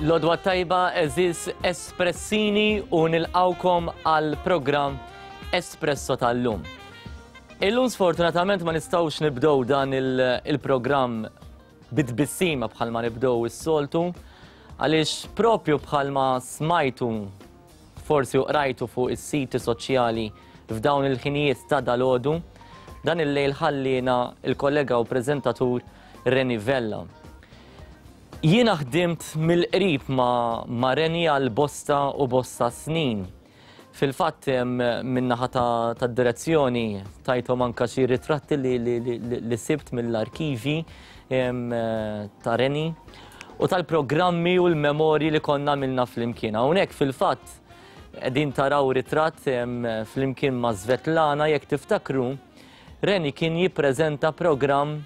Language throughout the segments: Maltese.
L-għodwa t-tajba għeżież Espressini u nilqgħukom għall-programm Espresso tal-lum. Illum sfortunatament ma nistgħux nibdew dan il-programm bit-tbissima bħalma nibdew is-soltu għaliex propju bħalma smajtu forsi u qrajtu fuq is-siti soċjali f'dawn il-ħinijiet ta' dalgħodu, dan il-lejl ħalliena il-kollega u preżentatur Reni Vella. Jiena ħdimt mill-qrib ma', ma Reni għal bosta u bosta snin. Fil-fatt min-naħa tad-direzzjoni tajthom anka xi ritratti li, li, li, li sibt mill-arkivi ta' Reni u tal-programmi u l-memorji li konna għamilna flimkien. Hawnhekk fil-fatt qegħdin taraw ritratt flimkien ma' Svetlana jekk tiftakru Reni kien jippreżenta programm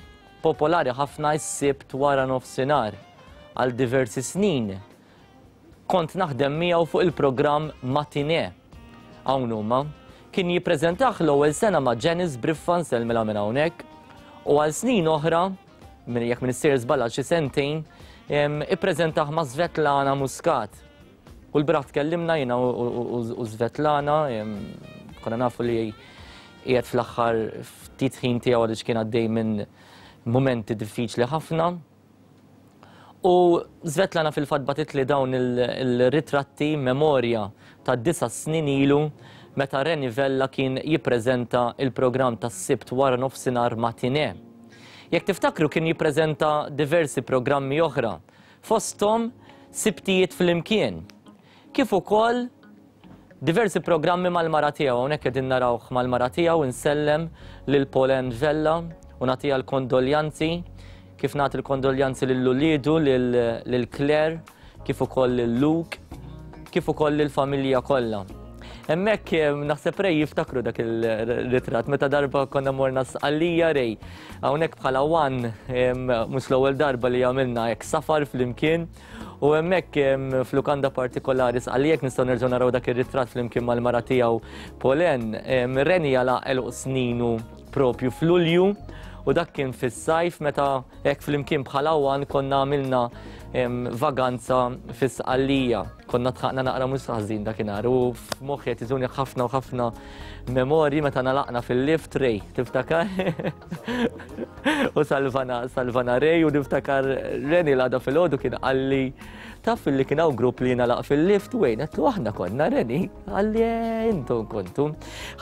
popolari ħafna s-Sibt wara nofsinhar għal diversi snin. Kont naħdem miegħu fuq il-programm Matinee. Hawn huma. Kien jippreżentah l-ewwel sena ma' Janice Briffa nsellmilha minn hawnhekk u għal snin oħra, jekk m'iniex sejjer żball għal xi sentejn, ippreżentah ma' Svetlana Muscat. U l-bieraħ tkellimna jiena u Svetlana, konna nafu li qiegħed fl-aħħar ftit ħin tiegħu għaliex kien għaddej minn mumenti diffiċli ħafna. U Svetlana fil-fatt bagħtitli dawn il-ritratti memorja ta' disa' snin ilu meta Reni Vella kien jippreżenta il-programm tas-Sibt wara nofsinhar Matinee. Jekk tiftakru kien jippreżenta diversi programmi oħra, fosthom Sibtijiet Flimkien, kif ukoll Diversi programmi mal-mara tiegħu, hawnhekk qegħdin narawh mal-mara tiegħu, insellem lil Pauline Vella u nagħtiha l-kondoljanzi, kif nagħti l-kondoljanzi lil uliedu, lil Claire, kif ukoll lil Luke, kif ukoll lill-familja kollha. Hemmhekk naħseb Ray jiftakru dak il-ritratt meta darba konna morna Sqallija Ray. Hawnhekk bħala one mhux l-ewwel darba li għamilna hekk safar flimkien. U hemmhekk f'lukanda partikolari Sqallija nistgħu nerġgħu naraw dak ir-ritratt flimkien mal-mara tiegħu Polen. Reni għalaq għeluq sninu propju f'Lulju u dak kien fis-sajf meta hekk flimkien bħala one konna għamilna vaganza fis-Sqallija. Konna tħaqna naqra mhux ħażin dakinhar u f'moħħi qed iżuni ħafna u ħafna memorji meta nalaqna fil-lift Ray, tiftakar? U salvana, salvana Ray u niftakar Reni l-għada fil-ħodu kien qalli taf li kien hawn grupp li nalaq fil-lift u għejn aħna konna Reni, qalli eh, intom kontu.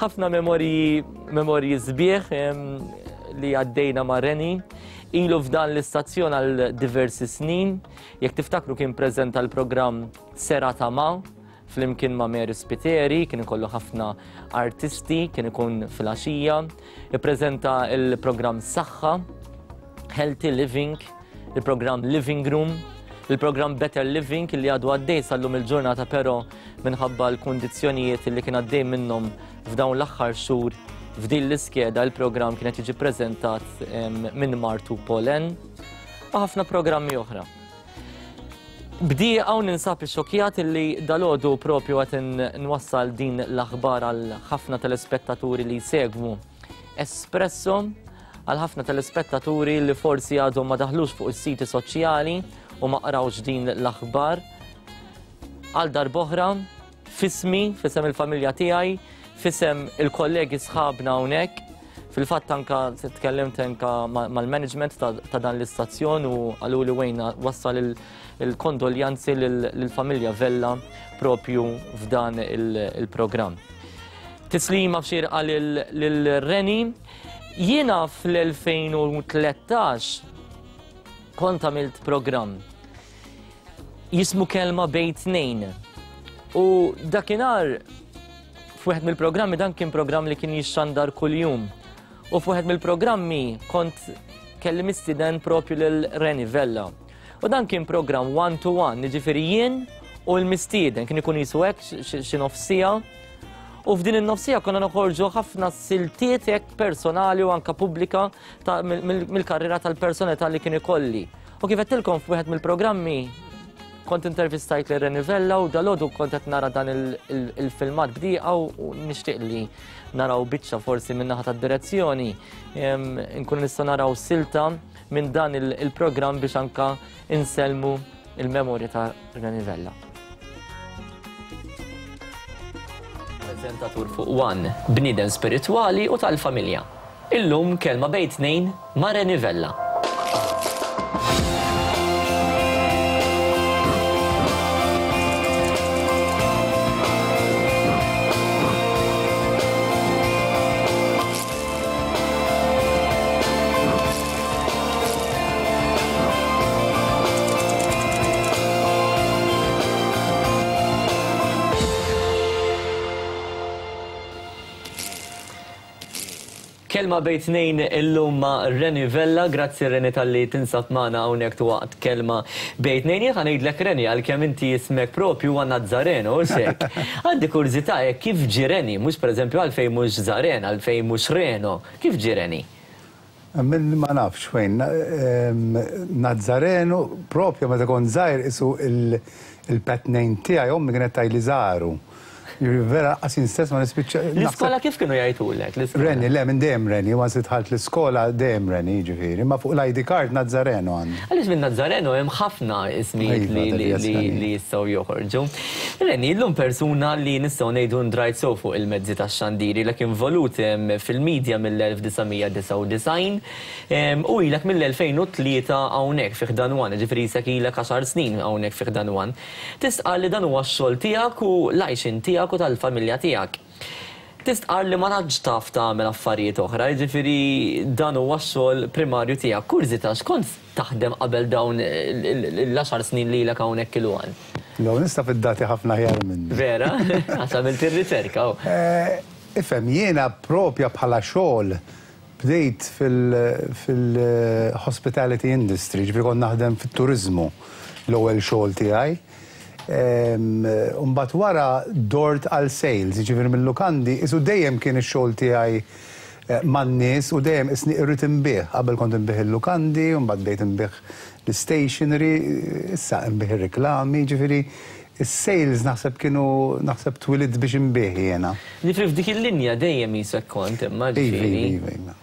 Ħafna memorji memorji sbieħ li għaddejna ma' Reni. Ilu f'dan l-istazzjon għal diversi snin. Jekk tiftakru kien preżenta l-programm Serata Ma' flimkien ma' Mary Spiteri, kien ikollu ħafna artisti, kien ikun filgħaxija, ippreżenta il-programm Saħħa, Healthy Living, il-programm Living Room, il-programm Better Living li għadu għaddej sal-lum il-ġurnata però minħabba l-kundizzjonijiet li kien għaddej minnhom f'dawn l-aħħar xhur f'din l-iskeda il-programm kienet jiġi preżentat minn Martu Polen u ħafna programmi oħra. Bdieqa u ninsab ixxokkjat illi dalgħodu propju qed nwassal din l-aħbar għal ħafna telespettaturi li jsegwu Espresso, għal ħafna telespettaturi li forsi għadhom ma daħlux fuq is-siti soċjali u ma qrawx din l-aħbar. Għal darb'oħra, F'ismi, f'isem il-familja tiegħi, f'isem il-kollegi sħabna hawnhekk, fil-fatt anka tkellimt anka mal-management ta' dan l-istazzjon u qalu li wejna wassal il-kondoljanzi lill-familja Vella propju f'dan il-programm. Tislima f'xirqa lil Reni. Jiena fl-2013 kont għamilt programm jismu Kelma Bejn Tnejn. U dakinhar f'wieħed mill-programmi dan kien programm li kien jixxandar kuljum. U f'wieħed mill-programmi kont kelli mistieden propju lil Reni Vella. U dan kien programm one to one, jiġifieri jien u l-mistieden kien ikun jisu hekk xi nofsija. U f'din in-nofsija konna noħorġu ħafna siltiet hekk personali u anka pubblika mill-karriera tal-personalità li kien ikolli. U kif għedtilkom f'wieħed mill-programmi kont intervistajt lil Reni Vella u dalgħodu kont qed nara dan il-filmat bdieqa u nixtieq li naraw biċċa forsi minn naħa tad-direzzjoni nkunu nistgħu naraw silta minn dan il-programm biex anka insellmu il-memorja ta' Reni Vella. Preżentatur fuq One, bniedem spiritwali u tal-familja. Illum kelma bejn tnejn ma' Reni Vella. Kelma bejn tnejn illum ma' Reni Vella, grazzi Reni talli tinsab magħna hawnhekk waqt kelma bejn tnejn. Jien ħa ngħidlek Reni għalkemm inti ismek propju huwa Nazzareno, hux hekk? Għandi kurżità hekk kif ġie Reni, mhux pereżempju għalfejn mhux Zaren, għalfejn mhux Reno, kif ġie Reni? Min ma nafx fejn. Nazzarenu, propju meta kont żgħir qisu il-pet name tiegħi ommi kienet tgħidli Żaru. Jiġifieri vera lanqas jien stess ma nispiċċa. L-iskola kif kienu jgħidulek? Reni, le minn dejjem Reni, once li dħalt l-iskola dejjem Reni jiġifieri, imma fuq l-ID card Nazzareno għandi. Għaliex minn Nazzareno hemm ħafna ismijiet li jistgħu joħorġu. Reni, illum persuna li nistgħu ngħidu ndrajt sew fuq il-mezzi tax-xandir, ilek involut fil-media mill-1999 u ilek mill-2003 hawnhekk fi ħdan One, jiġifieri isek ilek għaxar snin hawnhekk fi ħdan One. Tistqarr li dan huwa x-xogħol tiegħek u l-għajxien tiegħek u tal-familja tiegħek. Tistqarr li ma tantx taf tagħmel affarijiet oħra, jiġifieri dan huwa x-xogħol primarju tiegħek. Kurżità, x'kont taħdem qabel dawn l-għaxar snin li ilek hawnhekk il-One? Dawn issa fid-dati ħafna aħjar minni. Vera? Għax għamilt ir-riċerka. Ifhem, jiena propja bħala xogħol bdejt fil-hospitality industry, ġifieri kont naħdem fit-turiżmu l-ewwel xogħol tiegħi. U mbagħad wara dort għal sales, jiġifieri mil-lukandi, qisu dejjem kien ix-xogħol tiegħi man-nies u dejjem qisni irrid inbigħ. Qabel kont inbigħ il-lukandi, u mbagħad bdejt inbigħ l-istationery, issa inbigħ ir-riklami, jiġifieri s-sales naħseb kienu naħseb twilidt biex inbigħ jiena. Jiġifieri f'dik il-linja dejjem qisek kont imma ġifieri. Iva, iva, iva.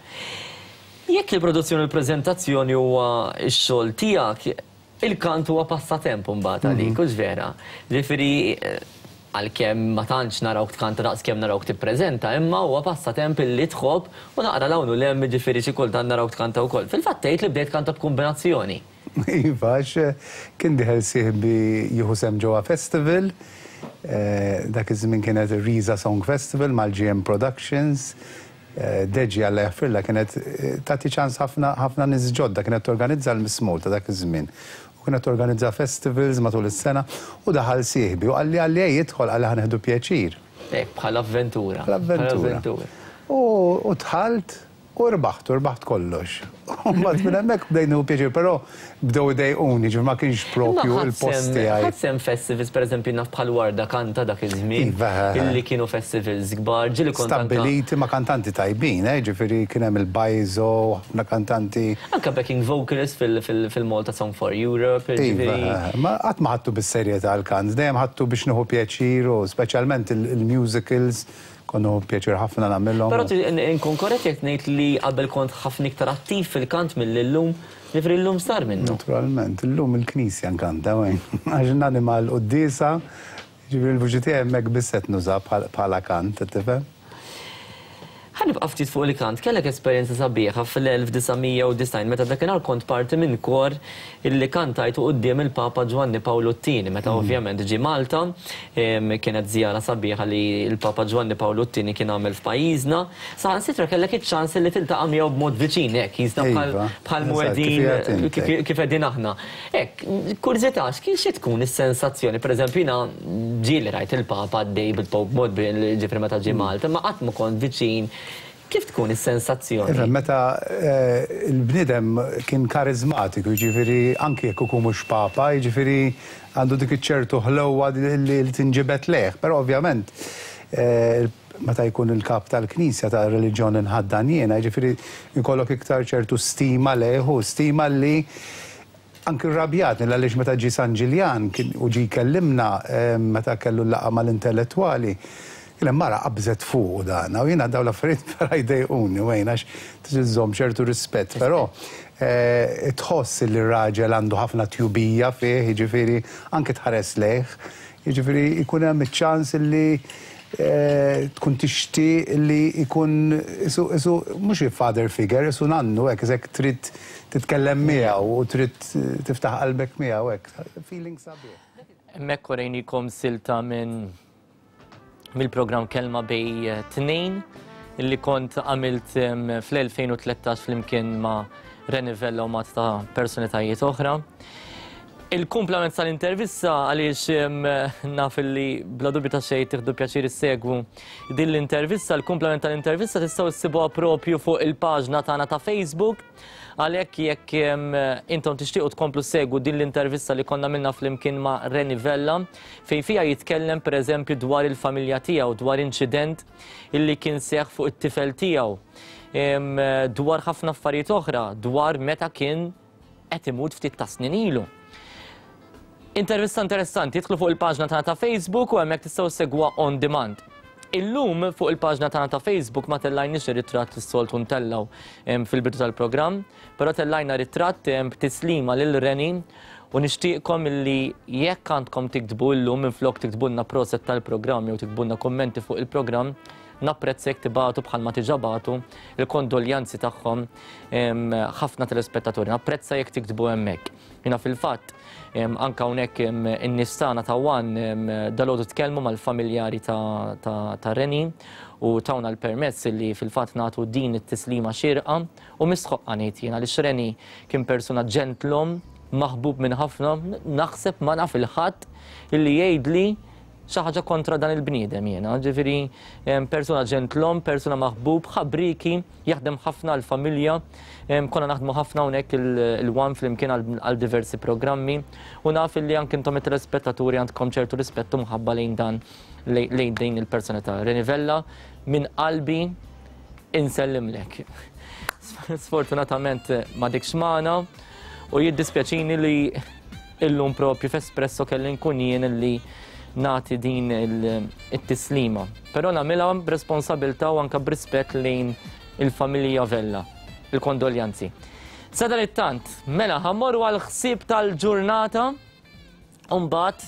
Jekk il-produzzjoni u l-preżentazzjoni huwa x-xogħol tiegħek, Il-kant huwa passatemp imbagħad għalik, hux vera? Ġifieri għalkemm ma tantx narawk tkanta daqs kemm narawk tippreżenta, imma huwa passatemp illi tħobb u naqra 'l hawn u 'l hemm jiġifieri xi kultant narawk tkanta wkoll. Fil-fatt tgħid li bdejt tkanta b'kumbinazzjoni. Iva, għax kien dieħel sieħbi jieħu sehem ġewwa festival, dak iż-żmien kienet ir-Riża Song Festival mal-GM Productions, Deġi Alla jaħfirlha kienet tagħti ċans ħafna ħafna nies ġodda, kienet torganizza l-Miss Malta dak iż-żmien. U kienet torganizza festivals matul is-sena u daħal sieħbi u qalli qalli ej idħol qalli ħa nieħdu pjaċir. Hekk bħala avventura. Bħala avventura. U dħalt u rbaħt u rbaħt kollox. U mbagħad minn hemmhekk bdejt nieħu pjaċir, però bdew idejquni, ġifieri ma kienx propju l-post tiegħi. Ħadt sehem festivals, pereżempju naf bħal Warda Kanta dak iż-żmien, illi kienu festivals kbar, ġieli kont anke. Stabbiliti ma' kantanti tajbin, ġifieri kien hemm il-Bajzo, ħafna kantanti. Anke backing vocalist fil-Malta Song for Europe, ġifieri. Iva, ma qatt ma ħadtu bis-serjetà l-kant, dejjem ħadtu biex nieħu pjaċir u speċjalment il-musicals. Kont nieħu pjaċir ħafna nagħmilhom. Però inkun korrett jekk ngħid li qabel kont ħafna iktar attiv fil-kant milli llum? Jiġifieri llum sar minnu. Naturalment, illum il-knisja nkanta wejn. Għax nanima l-quddiesa, jiġifieri l-vuċi tiegħi hemmhekk biss qed nużha bħala kant, qed tifhem? Ħa nibqa' ftit fuq il-kant. Kellek esperjenza sabiħa fl-1990 meta dakinhar kont parti minn kor illi kantajtu quddiem il-Papa Ġwanni Pawlu t-Tieni meta ovvjament ġie Malta. Kienet żjara sabiħa li l-Papa Ġwanni Pawlu t-Tieni kien għamel f'pajjiżna. Saħansitra kellek iċ-ċans li tiltaqa' miegħu b'mod viċin hekk, jisna bħal mwedin kif qegħdin aħna. Hekk, kurżità, xi tkun is-sensazzjoni? Pereżempju jiena ġieli rajt il-Papa għaddej bil-Pope Mobile, jiġifieri meta ġie Malta, imma qatt ma kont viċin. Kif tkun is-sensazzjoni? Ifhem, meta l-bniedem kien kariżmatiku, jiġifieri anki jekk ikun mhux Papa, jiġifieri għandu dik iċ-ċertu ħlewwa li tinġibed lejh. Però ovvjament meta jkun il-kap tal-Knisja, tar-reliġjon li nħaddan jiena, jiġifieri jkollok iktar ċertu stima lejh u stima li anki rrabjatni l-għaliex meta ġie San Ġiljan kien u ġie jkellimna meta kellu l-laqgħa mal-intellettwali, Il mara qabżet fuqu dan, u jiena dawn l-affarijiet vera jdejquni wejn għax trid iżżomm ċertu rispett, però tħoss li r-raġel għandu ħafna tjubija fih, jiġifieri anke tħares lejh, jiġifieri jkun hemm iċ-ċans li tkun tixtieq li jkun isu isu mhux father figure, isu nannu hekk isek trid titkellem miegħu u trid tiftaħ qalbek miegħu hekk. Feeling sabiħ. Hemmhekk urejnikom silta minn mill-programm Kelma Bej Tnejn li kont għamilt fl-2013 flimkien ma' Rene Vella u mat ta' personalitajiet oħra. Il-kumplament tal-intervista għaliex naf li bla dubju ta' xejn tieħdu pjaċir issegwu din l-intervista, il-kumplament tal-intervista tistgħu issibuha propju fuq il-paġna tagħna ta' Facebook. Għalhekk jekk intom tixtiequ tkomplu segwu din l-intervista li konna minna flimkien ma' Rene Vella, fejn fiha jitkellem pereżempju dwar il-familja tiegħu, dwar inċident illi kien seħħ fuq it-tifel tiegħu, dwar ħafna affarijiet oħra, dwar meta kien qed imut ftit ta' snin ilu. Intervista interessanti, idħlu fuq il-paġna tagħna ta' Facebook u hemmhekk tistgħu segwa on demand. Illum fuq il-paġna tagħna ta' Facebook ma tellajniex ir-ritratt li s-soltu ntellgħu fil-bidu tal-programm, però tellajna ritratt b'tislima lil Reni u nixtieqkom illi jekk għandkom tiktbu illum minflok tiktbulna proset tal-programm jew tiktbulna kummenti fuq il-programm, napprezza jekk tibagħtu bħalma diġà bagħtu il-kondoljanzi tagħhom ħafna telespettaturi. Napprezza jekk tiktbu hemmhekk. Jiena fil-fatt anke hawnhekk in-nies tagħna ta' One dalgħodu tkellmu mal-familjari ta' Reni u tawna l-permess li fil-fatt nagħtu din it-tislima xierqa u mistħoqqa ngħid jien għaliex Reni kien persuna ġentlom, maħbub minn ħafna, naħseb ma naf il-ħadd illi jgħidli xi ħaġa kontra dan il-bniedem jiena, ġifieri persuna ġentlom, persuna maħbub, ħabriki, jaħdem ħafna għall-familja, konna naħdmu ħafna hawnhekk il-One flimkien għal diversi programmi u naf illi anke intom it-telespettaturi għandkom ċertu rispett u mħabba lejn dan lejn din il-personalità. Reni Vella, minn qalbi insellimlek. Sfortunatament ma dikx magħna u jiddispjaċini li illum propju f'Espresso kelli nkun jien li nagħti din it-tislima. Però nagħmilha b'responsabilità u anke b'rispett lejn il-familja Vella. Il-kondoljanzi. Sadanittant, mela ħa mmorru għall-ħsieb tal-ġurnata. Umbagħad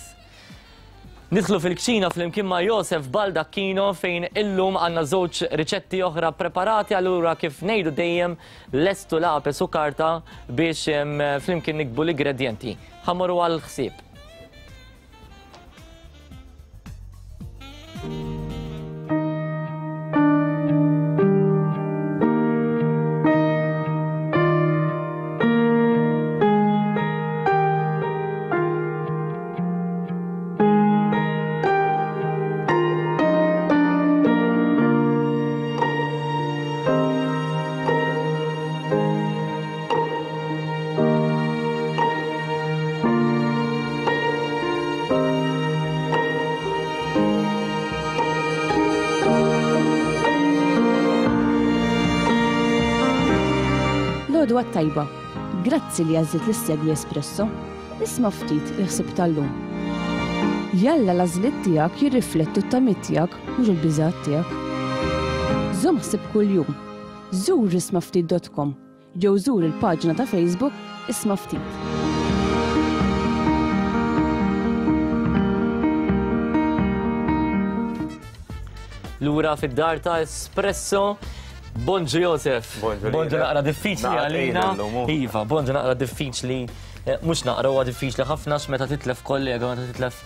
nidħlu fil-kċina flimkien ma' Josef Baldacchino fejn illum għandna żewġ riċetti oħra preparati allura kif ngħidu dejjem lestu lapes u karta biex flimkien nikbu l-ingredjenti. Ħa mmorru għall-ħsieb. L-għodwa t-tajba. Grazzi li għażilt li ssegwi Espresso. Isma' ftit il-ħsieb tal-lum. Jalla l-għażliet tiegħek jirriflettu t-tamiet tiegħek mhux il-biżgħat tiegħek. Żomm ħsieb kuljum. Żur ismaftit.com jew żur il-paġna ta' Facebook Isma' Ftit. Lura fid-dar ta' Espresso. Bonġu Josef. Bonġu naqra diffiċli għalina. Iva, bonġu naqra diffiċli. Eh, mhux naqra huwa diffiċli ħafna meta titlef kollega, meta titlef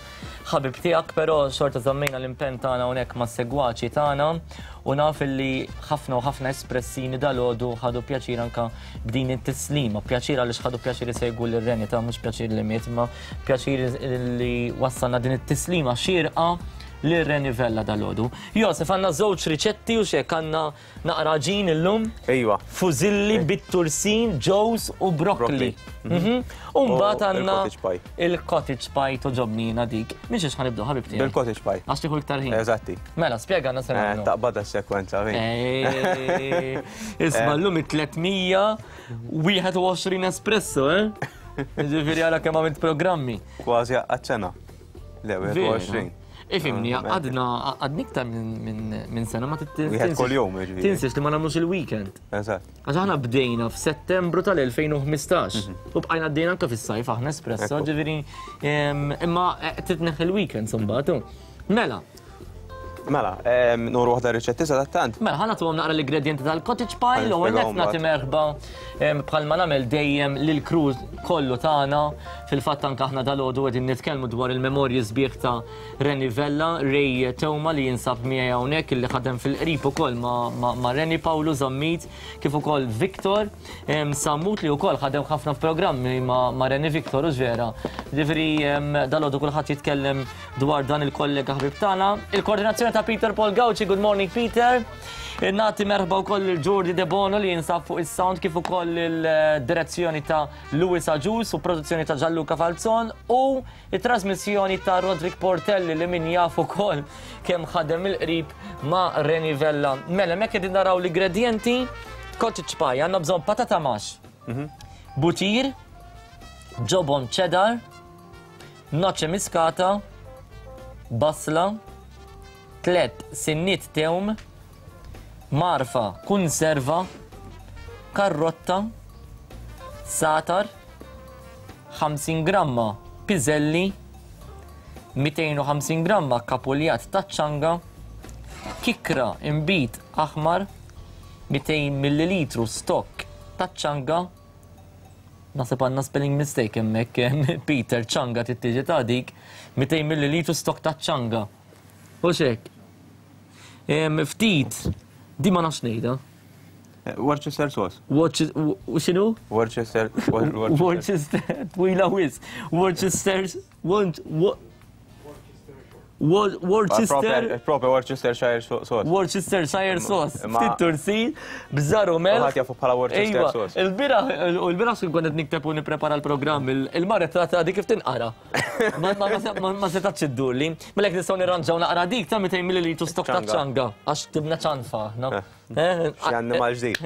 ħabib tiegħek, però xorta żammejna l-impenn tagħna hawnhekk mas-segwaċi tagħna u naf li ħafna u ħafna espressini dalgħodu ħadu pjaċir anka b'din it-tislima, pjaċir għaliex ħadu pjaċir isegwu lil Reni ta' mhux pjaċir li miet, imma pjaċir li wassalna din it-tislima xierqa lil Reni Vella dalgħodu. Josef għandna żewġ riċetti u xek għandna Naqra għaġin illum. Ejwa. Fużilli bit-tursin, ġewż u broccoli. Mhm. U mbagħad għandna il-cottage pie toġobni jiena dik. Minn xiex ħanibdew ħabib tiegħi? Bil-cottage pie. Għax tieħu iktar ħin. Eżatti. Mela, spjega għandna se nagħmlu. Taqbadha s-sekwenza. Isma' llum it-321 espresso, eh? Ġifieri għala kemm għamilt programmi. Kważi għaċ-ċena. Le, 21. Ifimni, għadna għadni iktar minn sena ma tinsiex. Kuljum, jiġifieri. Tinsiex li ma nagħmlux il-weekend. Eżatt. Għax aħna bdejna f'Settembru tal-2015 u bqajna għaddejna anke fis-sajf aħna espresso, ġifieri imma eh, titneħ il-weekend imbagħad. Mela. Mela, nuru waħda riċetti sa tant. Mela, ħana tuhom naqra l-ingredienti tal-cottage pie, l ewwel nett nagħti merħba bħalma nagħmel dejjem lil crew kollu tagħna. Fil-fatt anke aħna dalgħodu qegħdin nitkellmu dwar il-memorji sbieħ ta' Reni Vella, Ray Teuma li jinsab miegħi hawnhekk illi ħadem fil-qrib ukoll ma' Reni Pawlu Zammit kif ukoll Victor Sammut li wkoll ħadem ħafna f'programmi ma' Reni Victor u vera. Ġifieri dalgħodu kulħadd jitkellem dwar dan il-kollega ħbib tagħna. Il-koordinazzjoni ta' Peter Paul Gauci, good morning Peter. Nagħti merħba wkoll lil Jordi De Bono li jinsab fuq is-sound kif ukoll il-direzzjoni ta' Louis Agius u produzzjoni ta' Gianluca Falzon u It-trasmissjoni ta' Roderick Portelli li min jaf ukoll kemm ħadem mill-qrib ma' Reni Vella. Mela, hemmhekk qegħdin naraw l-ingredjenti cottage pie, għandna bżonn patata max, mhm. butir, ġobon cheddar, noċe miskata, basla, tlet sinnit tewm, marfa kunserva, karrotta, satar, 50 gramma piżelli, 250 gramma kapuljat taċ-ċanga, kikkra inbid aħmar, 200 millilitru stokk taċ-ċanga, naħseb għandna spelling mistake hemmhekk Peter ċanga trid tiġi ta' dik, 200 millilitru stokk taċ-ċanga. Hux hekk? Ftit, di ma nafx ngħidha. Worcester sauce. U xinu? Worcester. Worcester. Twila wis. Worcester. Worcester. Proprio Worcestershire sauce. Worcestershire sauce. Ftit tursin, bżar u melħ. Ħadd jafu bħala Worcester sauce. Il-bira, u l-bira xkien kont qed nikteb u nipprepara l-programm, il-maret ta' dik kif tinqara. Ma setax iddurli. Mela jekk nistgħu nirranġaw naqra dik ta' 200 ml stok ta' ċanga għax tibna ċanfa aħna. Eh. Xi annimal ġdid.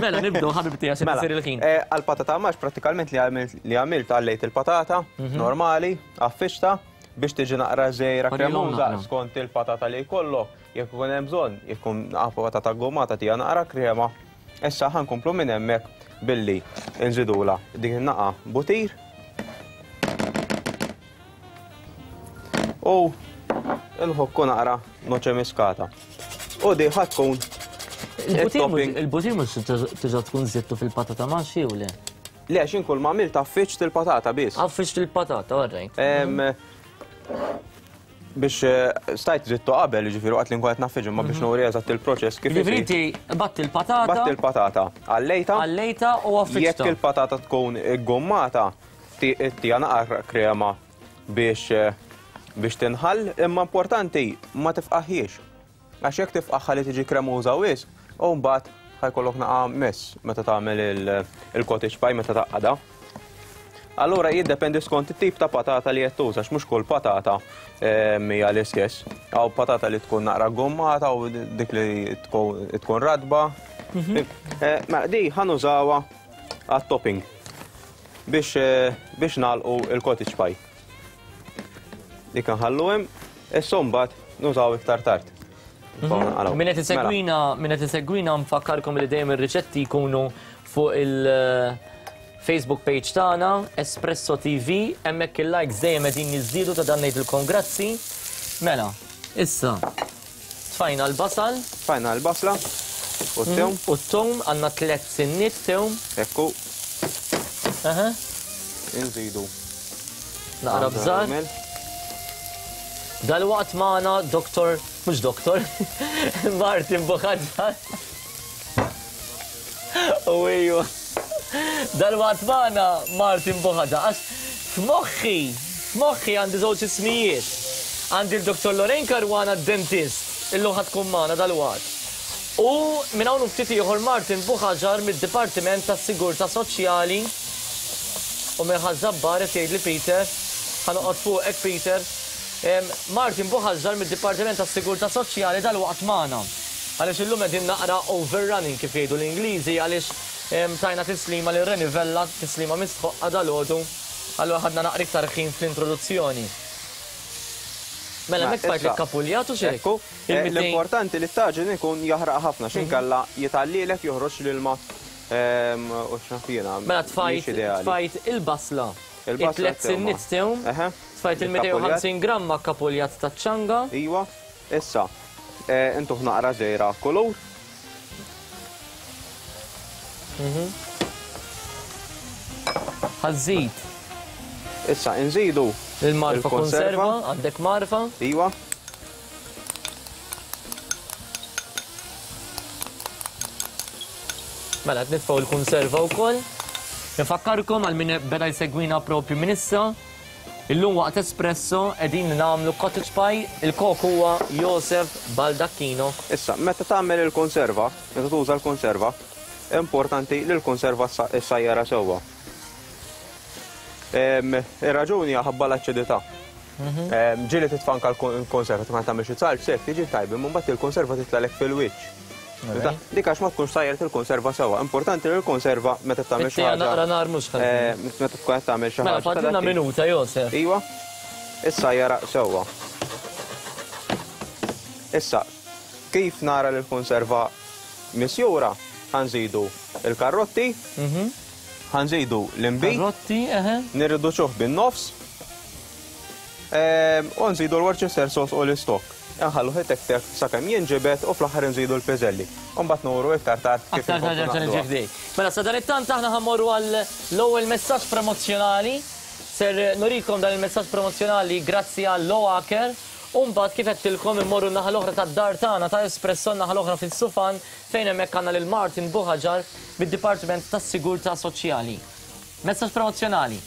Mela nibdew ħabib tiegħi xi mela, isir il-ħin. Eh, għal-patata max prattikament li għamilt li għamilt għallejt il-patata mhm. normali, għaffiċta biex tiġi naqra żejra kremuża skont il-patata li jkollok, jekk ikun hemm bżonn, jekk ikun patata gommata tija naqra krema. Issa ħankomplu minn hemmhekk billi nżidula dik in-naqa butir. U nħokku naqra noċe miskata. U di ħa tkun Il-butir mhux tiġa tkun żidtu fil-patata ma xi u le? Le, xin kull ma għamilt affiċt il-patata biss. Affiċt il-patata, all right. Biex eh, stajt zittu qabel, ġifieri waqt li nkun qed naffiġ imma biex mhm. nuri eżatt il-proċess kif. Ġifieri inti batti il-patata. Batti il-patata, għallejta. Għallejta u affiċta. Jekk il-patata tkun gommata, tija naqra krema biex biex tinħall, imma importanti ma tifqaħiex. Għax jekk tifqaħħa li tiġi kremuża wisq, u mbagħad ħajkollok naqa' mess meta tagħmel il-cottage pie meta taqgħadha. Allura jiddependi skont it-tip ta' patata li qed tuża, mhux kull patata ehm, hija l-istess. Hawn patata li tkun naqra gommata u dik li tkun radba. Mhm. Eh, mela di ħanużawha għat-topping. Biex biex nagħlqu il-cottage pie. Dik nħallu hemm, issa mbagħad nużaw iktar tard. Mhm. Min qed isegwina, mela. min qed isegwina nfakkarkom li dejjem ir-riċetti jkunu fuq il- eh, Facebook page tagħna, Espresso TV, hemmhekk il-likes dejjem qegħdin jiżdiedu ta' dan ngħidilkom grazzi. Mela, issa Tfajna l-basal. Tfajna l-basla u t-tewm. U t-tewm għandna tlett sinniet tewm. Ekku. Aha. Inżidu. Naqra bżar. Dal-waqt magħna doktor, mhux doktor, Martin Buħaġar. U iju. Dal-waqt magħna Martin Buħaġa. Għax f'moħħi, f'moħħi għandi żewġ ismijiet. Għandi l-Dr. Lorraine Caruana d-dentist, illum ħa tkun magħna dal-waqt. U minn hawn u ftit ieħor Martin Buħaġar mid-Dipartiment tas-Sigurtà Soċjali u minn Ħaż-Żabbar qed jgħidli Peter, ħa noqgħod fuqek Peter. Martin Buħaġar mid-Dipartiment tas-Sigurtà Soċjali dal-waqt magħna. Għaliex illum qegħdin naqra overrunning kif jgħidu l-Ingliżi għaliex tajna tislima lil Reni Vella, tislima mistħoqqa dalgħodu, allura ħadna naqra iktar ħin fl-introduzzjoni. Mela hemmhekk tfajt il-kapuljat u x'hekk. Ekku. L-importanti li t-taġin ikun jaħraq ħafna x'inkella jitgħallielek joħroġ l-ilma u x'naf jiena. Mela tfajt tfajt il-basla. Il-basla. It-tliet sinniet tewm. Tfajt il-250 gramma kapuljat taċ-ċanga. Iva. Issa, intuh naqra żgħira kulur. Ħa żżid. Issa inżidu il-marfa konserva, għandek marfa. Iva. Mela qed nitfgħu l-konserva wkoll. Nfakkarkom għal min beda jsegwina propju minn issa. Illum waqt Espresso qegħdin nagħmlu cottage pie, il-kok huwa Josef Baldacchino. Issa, meta tagħmel il-konserva, meta tuża l-konserva, importanti li l-konserva ssajjarha sewwa. Ir-raġuni hija ħabba l-aċidità. Ġieli titfa' anke l-konserva meta tagħmel xi zalz hekk tiġi tajba, imma mbagħad il-konserva titlagħlek fil-wiċċ. Dik għax ma tkunx sajret il-konserva sewwa. Importanti li l-konserva meta tagħmel xi ħaġa. Naqra nar mhux ħażin. Meta tkun qed tagħmel xi mela, ħaġa. Mela fadlilna minuta, Josef. Iva. Issa jaraq sewwa. Issa, kif nara li l-konserva misjura, ħanżidu il-karrotti, ħanżidu l-inbid. Karrotti, eħe. Nirriduċuh bin-nofs. U nżidu l-Worcester sauce u l-istock. Inħalluh itektek sakemm jinġibed u fl-aħħar inżidu l-piżelli. U mbagħad nuru iktar tard kif Aktar tard inkomplu nerġa' niġi naqduha. ħdejk. Mela sadanittant aħna ħa mmorru għal l-ewwel messaġġ promozzjonali. Ser nurikom dan il-messaġġ promozzjonali grazzi għal Loacker u mbagħad kif għedtilkom immorru n-naħa l-oħra tad-dar tagħna ta' Espresso n-naħa l-oħra fis-Sufan fejn hemmhekk għandna lil Martin Buhagiar mid-Dipartiment tas-Sigurtà Soċjali. Messaġġ promozzjonali.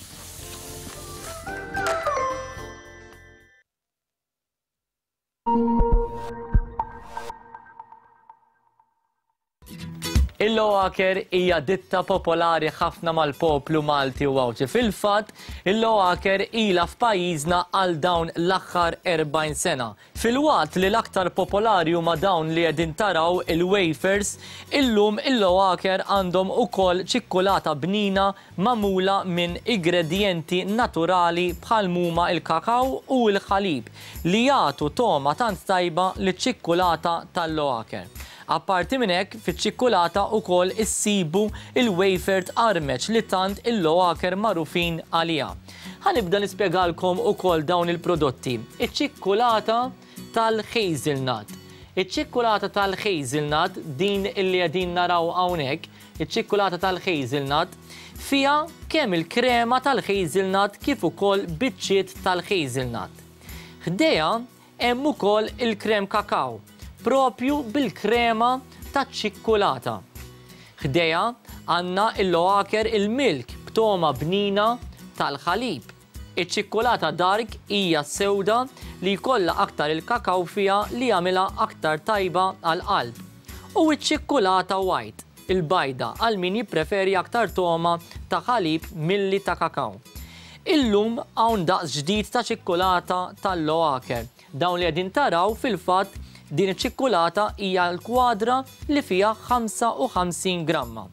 Il-Loacker hija ditta popolari ħafna mal-poplu Malti u Għawdxi. Fil-fatt, il-Loacker ilha f'pajjiżna għal dawn l-aħħar 40 sena. Filwaqt li l-aktar popolari huma dawn li qegħdin taraw, il-wafers, illum il-Loacker għandhom ukoll ċikkulata bnina magħmula minn igredjenti naturali bħal m'huma l-kakaw u l-ħalib li jagħtu togħma tant tajba liċ-ċikkulata tal-Loacker. Apparti minn hekk, fiċ-ċikkulata ukoll issibu l-wafer tqarmeċ li tant il-Loacker magħrufin għaliha. Ħa nibda nispjegalkom ukoll dawn il-prodotti. Iċ-ċikkulata tal-hazelnut. Iċ-ċikkulata tal-hazelnut, din illi qegħdin naraw hawnhekk, iċ-ċikkulata tal-hazelnut, fiha kemm il-krema tal-hazelnut kif ukoll biċċiet tal-hazelnut. Ħdejha Hemm ukoll il-krem kakaw, proprju bil-krema taċ-ċikkulata. Ħdejha għandna il-Loacker il-Milk b'togħma bnina tal-ħalib. Iċ-ċikkulata dark hija sewda li jkollha aktar il-kakaw fiha li jagħmilha aktar tajba għall-qalb. U ċ-ċikkulata white, il-bajda, għal min jippreferi aktar togħma ta' ħalib milli ta' kakaw. Illum hawn daqs ġdid ta' ċikkulata tal-Loacker. Dawn li qegħdin taraw fil-fatt din iċ-ċikkulata hija l-kwadra li fiha 55 gramma.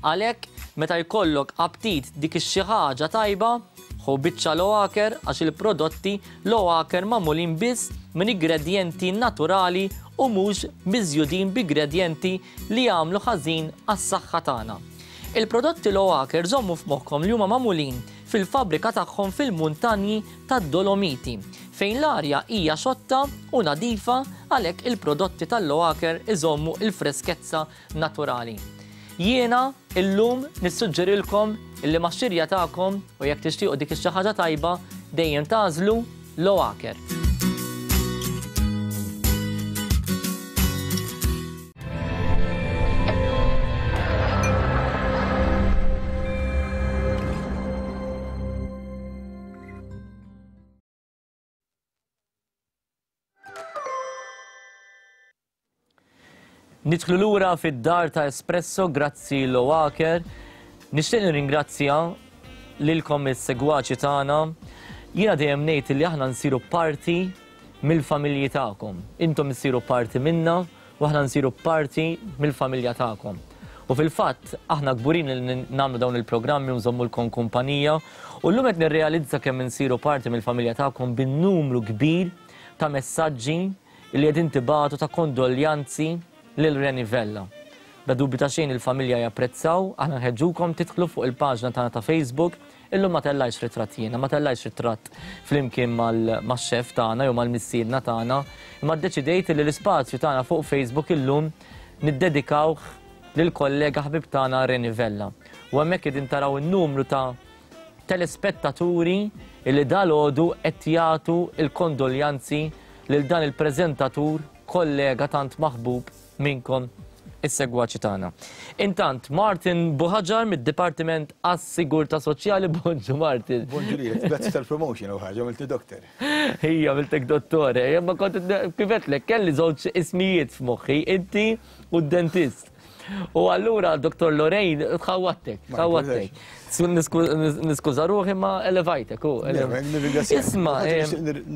Għalhekk meta jkollok aptit dik ix-xi ħaġa tajba, ħu biċċa Loacker għax il-prodotti Loacker magħmulin biss minn igredjenti naturali u mhux miżjudin b'igredjenti li jagħmlu ħażin għas-saħħa tagħna. Il-prodotti Loacker żommu f'moħħkom li huma magħmulin fil-fabbrika tagħhom fil-muntanji tad-Dolomiti, fejn l-arja hija xotta u nadifa għalhekk il-prodotti tal-Loacker iżommu l-freskezza naturali. Jiena illum nissuġġerilkom illi max-xirja tagħkom u jekk tixtiequ dik ix-xi ħaġa tajba dejjem tagħżlu Loacker. Nidħlu lura fid-dar ta' Espresso grazzi Loacker. Nixtieq nirringrazzja lilkom is-segwaċi tagħna. Jiena dejjem ngħid li aħna nsiru parti mill-familji tagħkom. Intom issiru parti minna u aħna nsiru parti mill-familja tagħkom. U fil-fatt, aħna kburin li nagħmlu dawn il-programmi u nżommulkom kumpanija u llum qed nirrealizza kemm insiru parti mill-familja tagħkom bin-numru kbir ta' messaġġi li qegħdin tibagħtu ta' kondoljanzi lil Reni Vella. Bla dubju ta' xejn il-familja japprezzaw, aħna nħeġġukom tidħlu fuq il-paġna tagħna ta' Facebook, illum ma tellajtx ritratt jiena, ma tellajtx ritratt flimkien max-chef tagħna jew mal-missiedna tagħna, imma ddeċidejt li l-ispazju tagħna fuq Facebook illum niddedikawh lill-kollega ħbib tagħna Reni Vella. U hemmhekk qegħdin taraw in-numru ta' telespettaturi li dalgħodu qed jagħtu l-kondoljanzi lil dan il-preżentatur kollega tant maħbub minnkom is-segwaċi tagħna. Intant, Martin Buhaġar mid-Dipartiment għas-Sigurtà Soċjali, bonġu Martin. Bonġu lilek, grazzi tal-promotion u ħaġa, għamiltni doktor. Ija, għamiltek dottore, imma kont kif għedtlek, kelli żewġ ismijiet f'moħħi, inti u d-dentist. U allura Dr. Lorraine tħawattek, tħawattek. Niskuża ruħi ma elevajtek. Isma.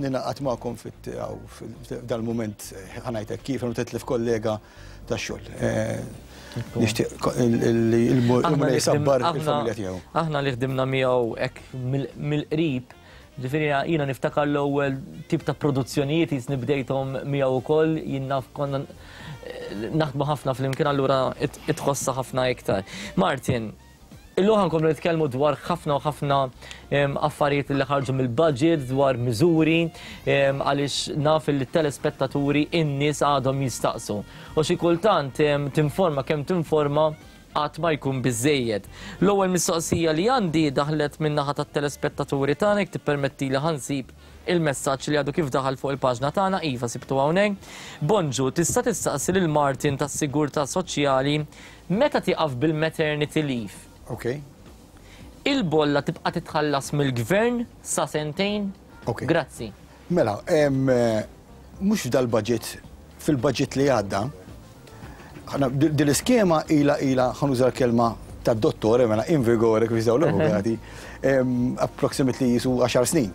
Ninaqat magħkom f'dal-mument ħanajtek kif għanu tetlif kollega ta' xogħol. Eh, nixtieq li il-mulej sabbar il-familja tiegħu. Aħna li ħdimna miegħu hekk mill-qrib Ġifieri jiena niftakar l-ewwel tip ta' produzzjonijiet jisni bdejthom miegħu wkoll, jien naf konna naħdmu ħafna flimkien allura itħossha ħafna iktar. Martin, illum ħankomplu nitkellmu dwar ħafna u ħafna affarijiet li ħarġu mill-budget, dwar miżuri, għaliex naf li t-telespettaturi in-nies għadhom jistaqsu. U xi kultant tinforma kemm tinforma qatt ma jkun biżżejjed. L-ewwel mistoqsija li għandi daħlet min-naħa tat-telespettaturi tagħna, jekk tippermettili ħa nsib il-messaġġ li għadu kif daħal fuq il-paġna tagħna, iva sibtu hawnhekk. Bonġu, tista' tistaqsi lil Martin tas-Sigurtà Soċjali meta tieqaf bil-maternity leave? Ok. Il-bolla tibqa' titħallas mill-Gvern sa sentejn? Ok. Grazzi. Mela, mhux f'dal-budget, fil-budget li għadda, din l-iskema ilha ilha ħa nuża l-kelma tad-dottore mela in vigore kif jużaw l-avukati, approximately jisu 10 snin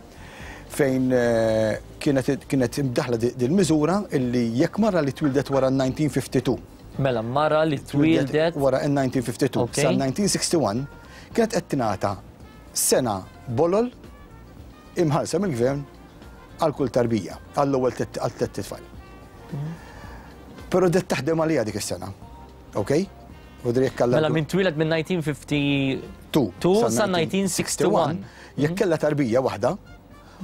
fejn eh, kienet kienet imdaħla din miżura illi jekk mara li twildet wara 1952. Mela mara li twildet wara 1952 sa 1961 kienet qed tingħata sena bolol imħallsa mill-gvern għal kull tarbija, għall-ewwel għal tlett itfal. Però det taħdem għalija dik is-sena. Ok? Mela minn twieled minn 1952 sa 1961. Jekk kellha tarbija waħda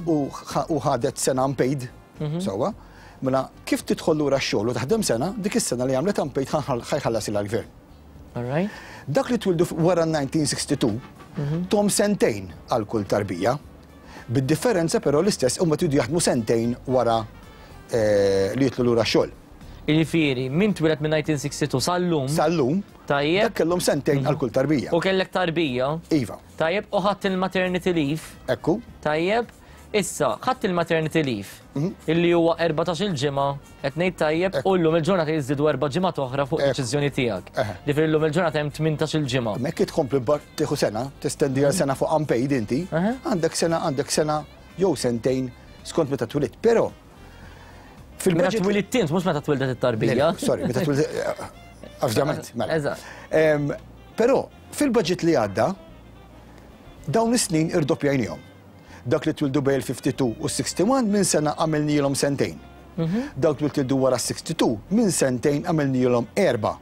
u ħadet sena unpaid, mhm. sewwa, mela kif tidħol lura x-xogħol u taħdem sena, dik is-sena li għamlet unpaid ħajħallas il-gvern. Dak li twildu wara 1962, mhm. tom sentejn għal kull tarbija. Bid-differenza però l-istess huma tridu jaħdmu sentejn wara eh, li jitlu lura xogħol. Jiġifieri, min twieled minn 1962 sal-lum. Sal-lum. Tajjeb. Dak kellhom sentejn għal kull tarbija. U kellek tarbija. Iva. Tajjeb, u ħadd il-maternity leave. Ekku. Tajjeb. Issa, ħadd il-maternity leave. Mhm. Illi huwa 14 il-ġimgħa Qed ngħid tajjeb u llum il-ġurnata jiżdiedu erba' ġimgħat oħra fuq deċiżjoni tiegħek. Ġifieri llum il-ġurnata hemm 18-il ġimgħa. Imma jekk tkompli tieħu sena, testendi għal sena fuq unpaid inti, għandek sena, għandek sena jew sentejn skont meta twilidt. Però fil-Meta twilidt int, mhux meta twildet it-tarbija. Sorry, meta twilidt. Ovvjament, mela. Eżatt. Però fil-budget li għadda dawn is-snin irdoppjajnihom. Dak li twildu bejn il-52 u s-61 minn sena għamilnielhom sentejn. Mhm. Dawk li twildu wara s-62 minn sentejn għamilnielhom erba'.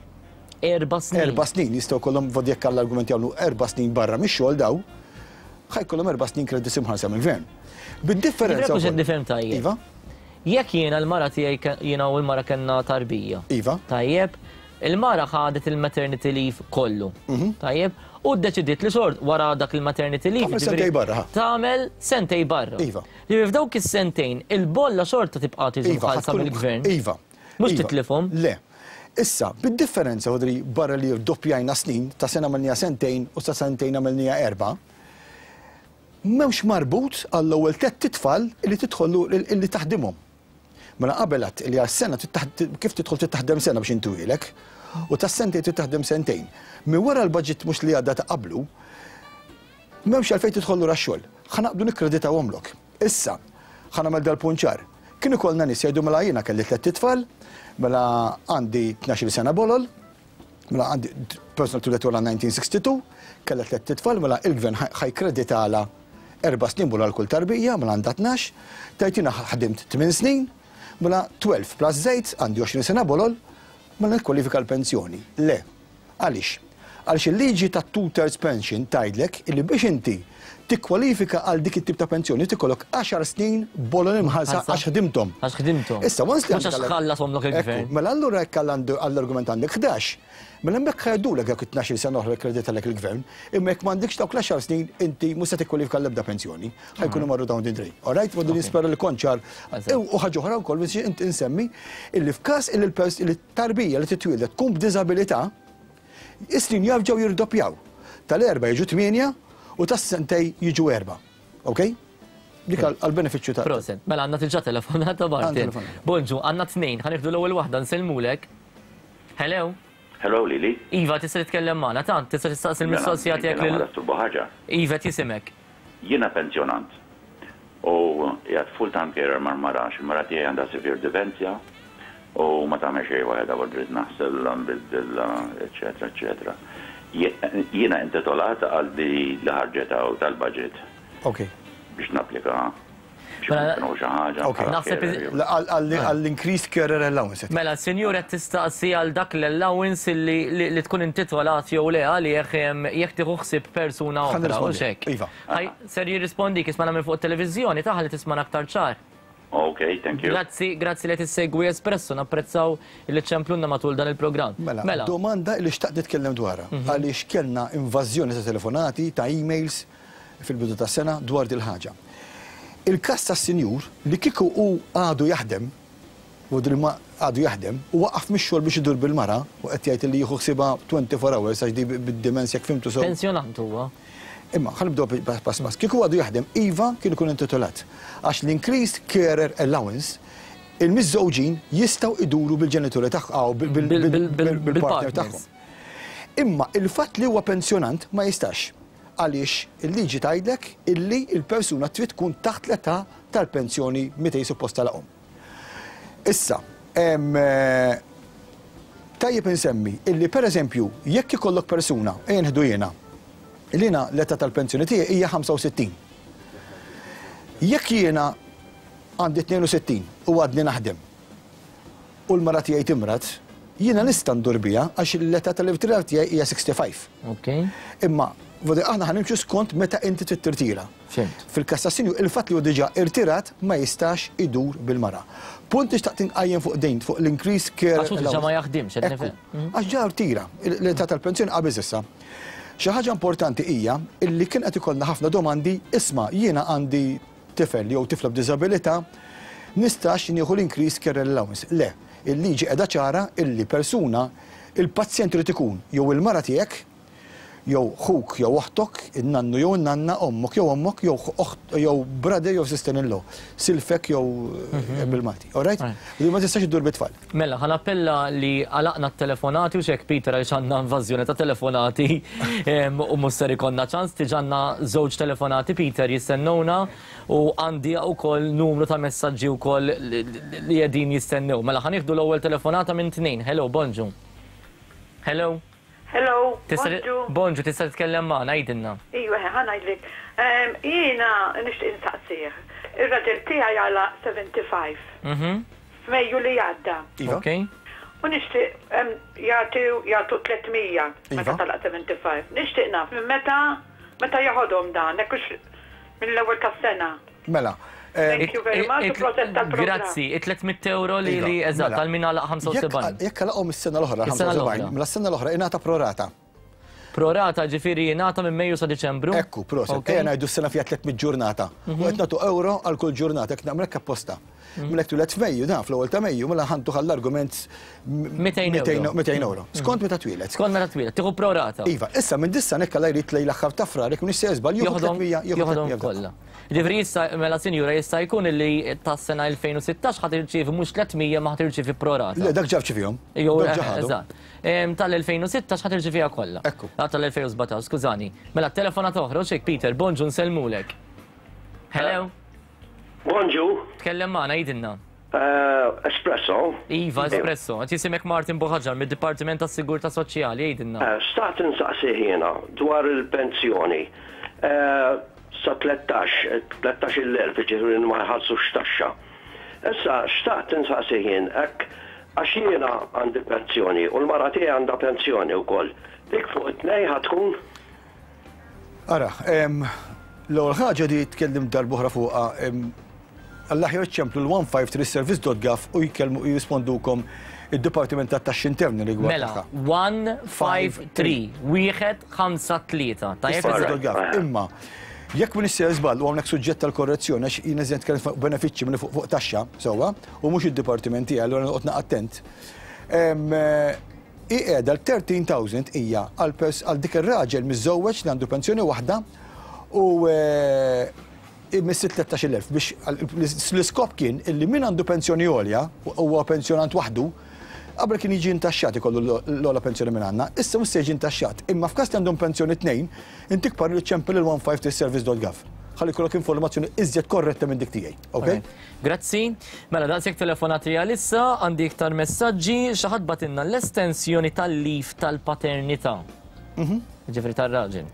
Erba' snin. Erba' snin jistgħu jkollhom vod jekk għall-argument jagħmlu erba' snin barra mix-xogħol daw, ħajkollhom erba' snin kredits imħallsa mill-gvern. Bid-differenza. Mhux qed nifhem tajjeb. Iva. Jekk jiena l-mara tiegħi jiena u l-mara kellna tarbija. Iva. Tajjeb, Il-mara ħadet il-maternity leave kollu. Mhm. Tajjeb, u ddeċidiet li xort wara dak il-maternity leave. Tagħmel sentej barra. Tagħmel sentej barra. Iva. Li f'dawk is-sentejn il-bolla xorta tibqa' tiġi iva, mħallsa mill-gvern. Iva. Mhux iva. titlifhom. Le. Issa, bid-differenza għodri barra li doppjajna snin, ta' sena għamilnija sentejn u ta' sentejn għamilnija erba', m'hemmx marbut għall-ewwel tlett itfal li tidħol li taħdimhom. Mela qabel għedt li għas-sena kif tidħol trid taħdem sena biex intuhielek u tas-sentejn trid taħdem sentejn. Minn wara l-budget mhux li għadda ta' qablu, m'hemmx għalfejn tidħol lura x-xogħol. Ħa naqbdu nikkreditawhomlok. Issa, ħa nagħmel dal-punt ċar. Kien ikollna nies jgħidu mela jiena kelli tlett itfal, mela għandi 12-il sena bolol, mela għandi personal twieldet wara 1962, kellha tlett itfal, mela il-gvern ħa jkkreditalha erba' snin bula għal kull tarbija, mela għandha 12, tgħid jiena ħdimt tmien snin, Mela 12 plus 8 għandi 20 sena bolol, mela nikkwalifika l-pensjoni. Le. Għaliex? Għaliex il-liġi ta' two thirds pension tgħidlek illi biex inti tikkwalifika għal dik it-tip ta' pensjoni trid ikollok għaxar snin bolol imħallsa għax ħdimthom. Għax ħdimthom. Issa once li Mhux għax ħallashomlok il-gvern. Mela allura jekk għall-argument għandek 11, mela hemmhekk ħa jgħaddulek dawk it-tnax-il sena oħra li kkreditalek il-gvern, imma jekk m'għandekx dawk l-għaxar snin inti mhux se tikkwalifika għall-ebda pensjoni. Ħa jkunu marru down the drain. All right? Għadu nispera li kont ċar. U ħaġa oħra wkoll biex inti insemmi illi f'każ illi l-tarbija li titwieldet tkun b'diżabilità, is-snin jarġgħu jirdoppjaw. Tal-erba' jiġu 8 u tas-sentej jiġu erba'. Ok? Dik għall-benefiċċju ta' Proset. Mela għandna diġà telefonata Martin. Bonġu, għandna tnejn, ħa nieħdu l-ewwel waħda nsellmulek. Hello. Hello Lili. Iva, tista' titkellem magħna, tant, tista' tistaqsi l-mistoqsija tiegħek lil. Mela, Iva, qed jisimek. Jiena pensjonant u qiegħed full time carer mal-mara għax il-mara tiegħi għandha severe dementia u ma tagħmel xejn waħedha u rrid naħsellha, nbiddilha, eċċetera eċċetera. Jiena intitolat għal di li ħarġet hawn tal-budget biex napplika Naħseb Għall-increased carer allowance. Mela, s-sinjur qed tistaqsi għal dak l-allowance li tkun intitolat jew le għalih jekk tieħu ħsieb persuna oħra, hux hekk? Iva. Ser jirrispondik, ismagħna minn fuq it-televiżjoni, ta' ħalli tismagħna aktar ċar. Ok, thank you. Grazzi, grazzi li qed issegwi Espresso, napprezzaw li ċċemplulna matul dan il-programm. Mela, domanda li xtaqt nitkellem dwarha, għaliex kellna invażjoni ta' telefonati, ta' emails, fil-bidu tas-sena dwar dil-ħaġa. Il-każ tas-sinjur li kieku hu għadu jaħdem, u li ma għadu jaħdem, u waqaf mix-xogħol biex idur bil-mara u qed jgħid li jieħu ħsiebha 24 hours għax di bid-dimens jekk fhimtu sew. Pensjonant huwa. Imma ħa nibdew pass pass. Kieku għadu jaħdem, iva kien ikun intitolat. Għax l-increased carer allowance il-miżżewġin jistgħu iduru bil-ġenituri tagħhom, bil-partner tagħhom. Imma il-fatt li huwa pensjonant ma jistax. Għaliex il-liġi tgħidlek illi l-persuna trid tkun taħt l-età tal-pensjoni meta hi suppost tagħlaqhom. Issa, tajjeb insemmi illi pereżempju jekk ikollok persuna, ejja nieħdu jiena, illi jiena l-età tal-pensjoni tiegħi hija 65. Jekk jiena għandi 62 u għadni naħdem, u l-mara tiegħi timrad, jiena nista' ndur biha għax l-età tal-irtirar tiegħi hija 65. Okay. Imma aħna ħa nimxu skont meta inti trid tirtira. Fhimt. Fil-każ tas-sinjur, il-fatt li hu diġà irtirat ma jistax idur bil-mara. Punt li xtaqt inqajjem fuq din, fuq l-increased care Għax hu diġà ma jaħdimx, qed Ekku. nifhem. Għax ġa rtira, l-età tal-pensjoni qabeż issa. Xi ħaġa importanti hija illi kien qed ikollna ħafna domandi, isma' jiena għandi tifel jew tifla b'diżabilità, nistax nieħu l-increased care allowance. Le, il-liġi qiegħda ċara illi persuna, il-pazjent irid ikun jew il-mara tiegħek, jew ħuk jew oħtok, in-nannu jew in-nanna, ommok jew ommok, jew oħt jew brother jew sister-in-law, silfek jew bil-Malti. All right? Li ma tistax iddur bit-tfal. Mela, ħa nappella li għalaqna t-telefonati u xek Peter għaliex għandna invażjoni ta' telefonati u mhux ser ikollna ċans, diġà għandna żewġ telefonati Peter jistennewna u għandi wkoll numru ta' messaġġi wkoll li qegħdin jistennew. Mela ħa nieħdu l-ewwel telefonata minn tnejn. Hello, bonġu. Hello. Hello, Tista' bonġu. Bonġu, tista' titkellem magħna, għidilna. Iva, ħa ngħidlek. Jiena nixtieq insaqsih. Ir-raġel tiegħi għalaq 75. F'Mejju li għadda. Iva. Ok. U nixtieq jagħti jagħtu 300 meta Iva. talaq 75. Nixtieq naf minn meta meta jaħodhom dan, hekk hux mill-ewwel tas-sena. Mela. Thank you very much u proset tal-programm. Grazzi, it-300 euro li Iva, li eżatt mela. għal min għalaq 75. Jekk għalaqhom is-sena l-oħra, Is-sena 75, l-oħra. mela s-sena l-oħra ingħata prorata. Prorata ġifieri jingħata minn Mejju sa Diċembru? Ekku, proset. Ok. Ejja ngħidu s-sena fiha 300 ġurnata. U qed nagħtu euro għal kull ġurnata, jekk nagħmel hekk apposta. Mela jekk twieled f'Mejju, dan fl-ewwel ta' Mejju, mela ħantu għall-argument 200 euro. 200 euro. Skont meta twieled. Skont meta twieled, tieħu prorata. Iva, issa minn dissa nekka la jrid lejn l-aħħar ta' Frar, jekk m'iniex se żball, jieħu 300, jieħu Joħodhom 300 kollha. Ġifieri issa mela sinjura jista' jkun illi tas-sena 2016 ħa tirċievi mhux 300 ma ħa tirċievi prorata. Le, dak ġab ċifihom. Jew Dak ġa ħadhom. eżatt. Tal-2016 ħa tirċieviha kollha. Ekku. Ah, tal-2017, skużani. Mela telefonata oħra, u xejk Peter, bonġu nsellmulek. Hello. Bonġu. Tkellem magħna, għidilna. Espresso. Iva, Espresso. Qed jisimek Martin Buħaġar mid-Dipartiment tas-Sigurtà Soċjali, għidilna. Xtaqt insaqsi jiena dwar il-pensjoni. Sa 13, 13-il elf, jiġifieri ma jħallsux taxxa. Issa xtaqt insaqsih jien hekk għax jiena għandi pensjoni u l-mara tiegħi għandha pensjoni wkoll. Dik fuq it-tnejn ħa tkun? Ara, l-ewwel ħaġa di tkellimt darb'oħra fuqha, għall-aħjar iċċemplu l-153service.gov u jkellmu jirrispondukom id-Dipartiment tat-Taxxi Interni rigward Mela, 153, wieħed, ħamsa, tlieta. Tajjeb? Service.gov. Imma, jekk m'iniex sejjer żball u hawnhekk suġġett tal-korrezzjoni għax jien eżent nitkellem fuq benefiċċji milli fuq taxxa, sewwa, u mhux id-dipartiment tiegħi, allura noqgħod attent. Hi qiegħda l-13,000 hija għal pers għal dik ir-raġel miżżewweġ li għandu pensjoni waħda u imiss it-13,000 biex l-iskop kien illi min għandu pensjoni għolja u huwa pensjonant waħdu qabel kien jiġi intaxxat ikollu l-ogħla pensjoni minn għandna, issa mhux se jiġi intaxxat. Imma f'każ li għandhom pensjoni tnejn, intik parir iċċempel il-153service.gov ħalli jkollok informazzjoni iżjed korretta minn dik tiegħi. Okay? Grazzi. Mela daqshekk telefonati għalissa, għandi iktar messaġġi, xi ħadd bagħtilna l-estensjoni tal-leave tal-paternità. Ġifieri tar-raġel.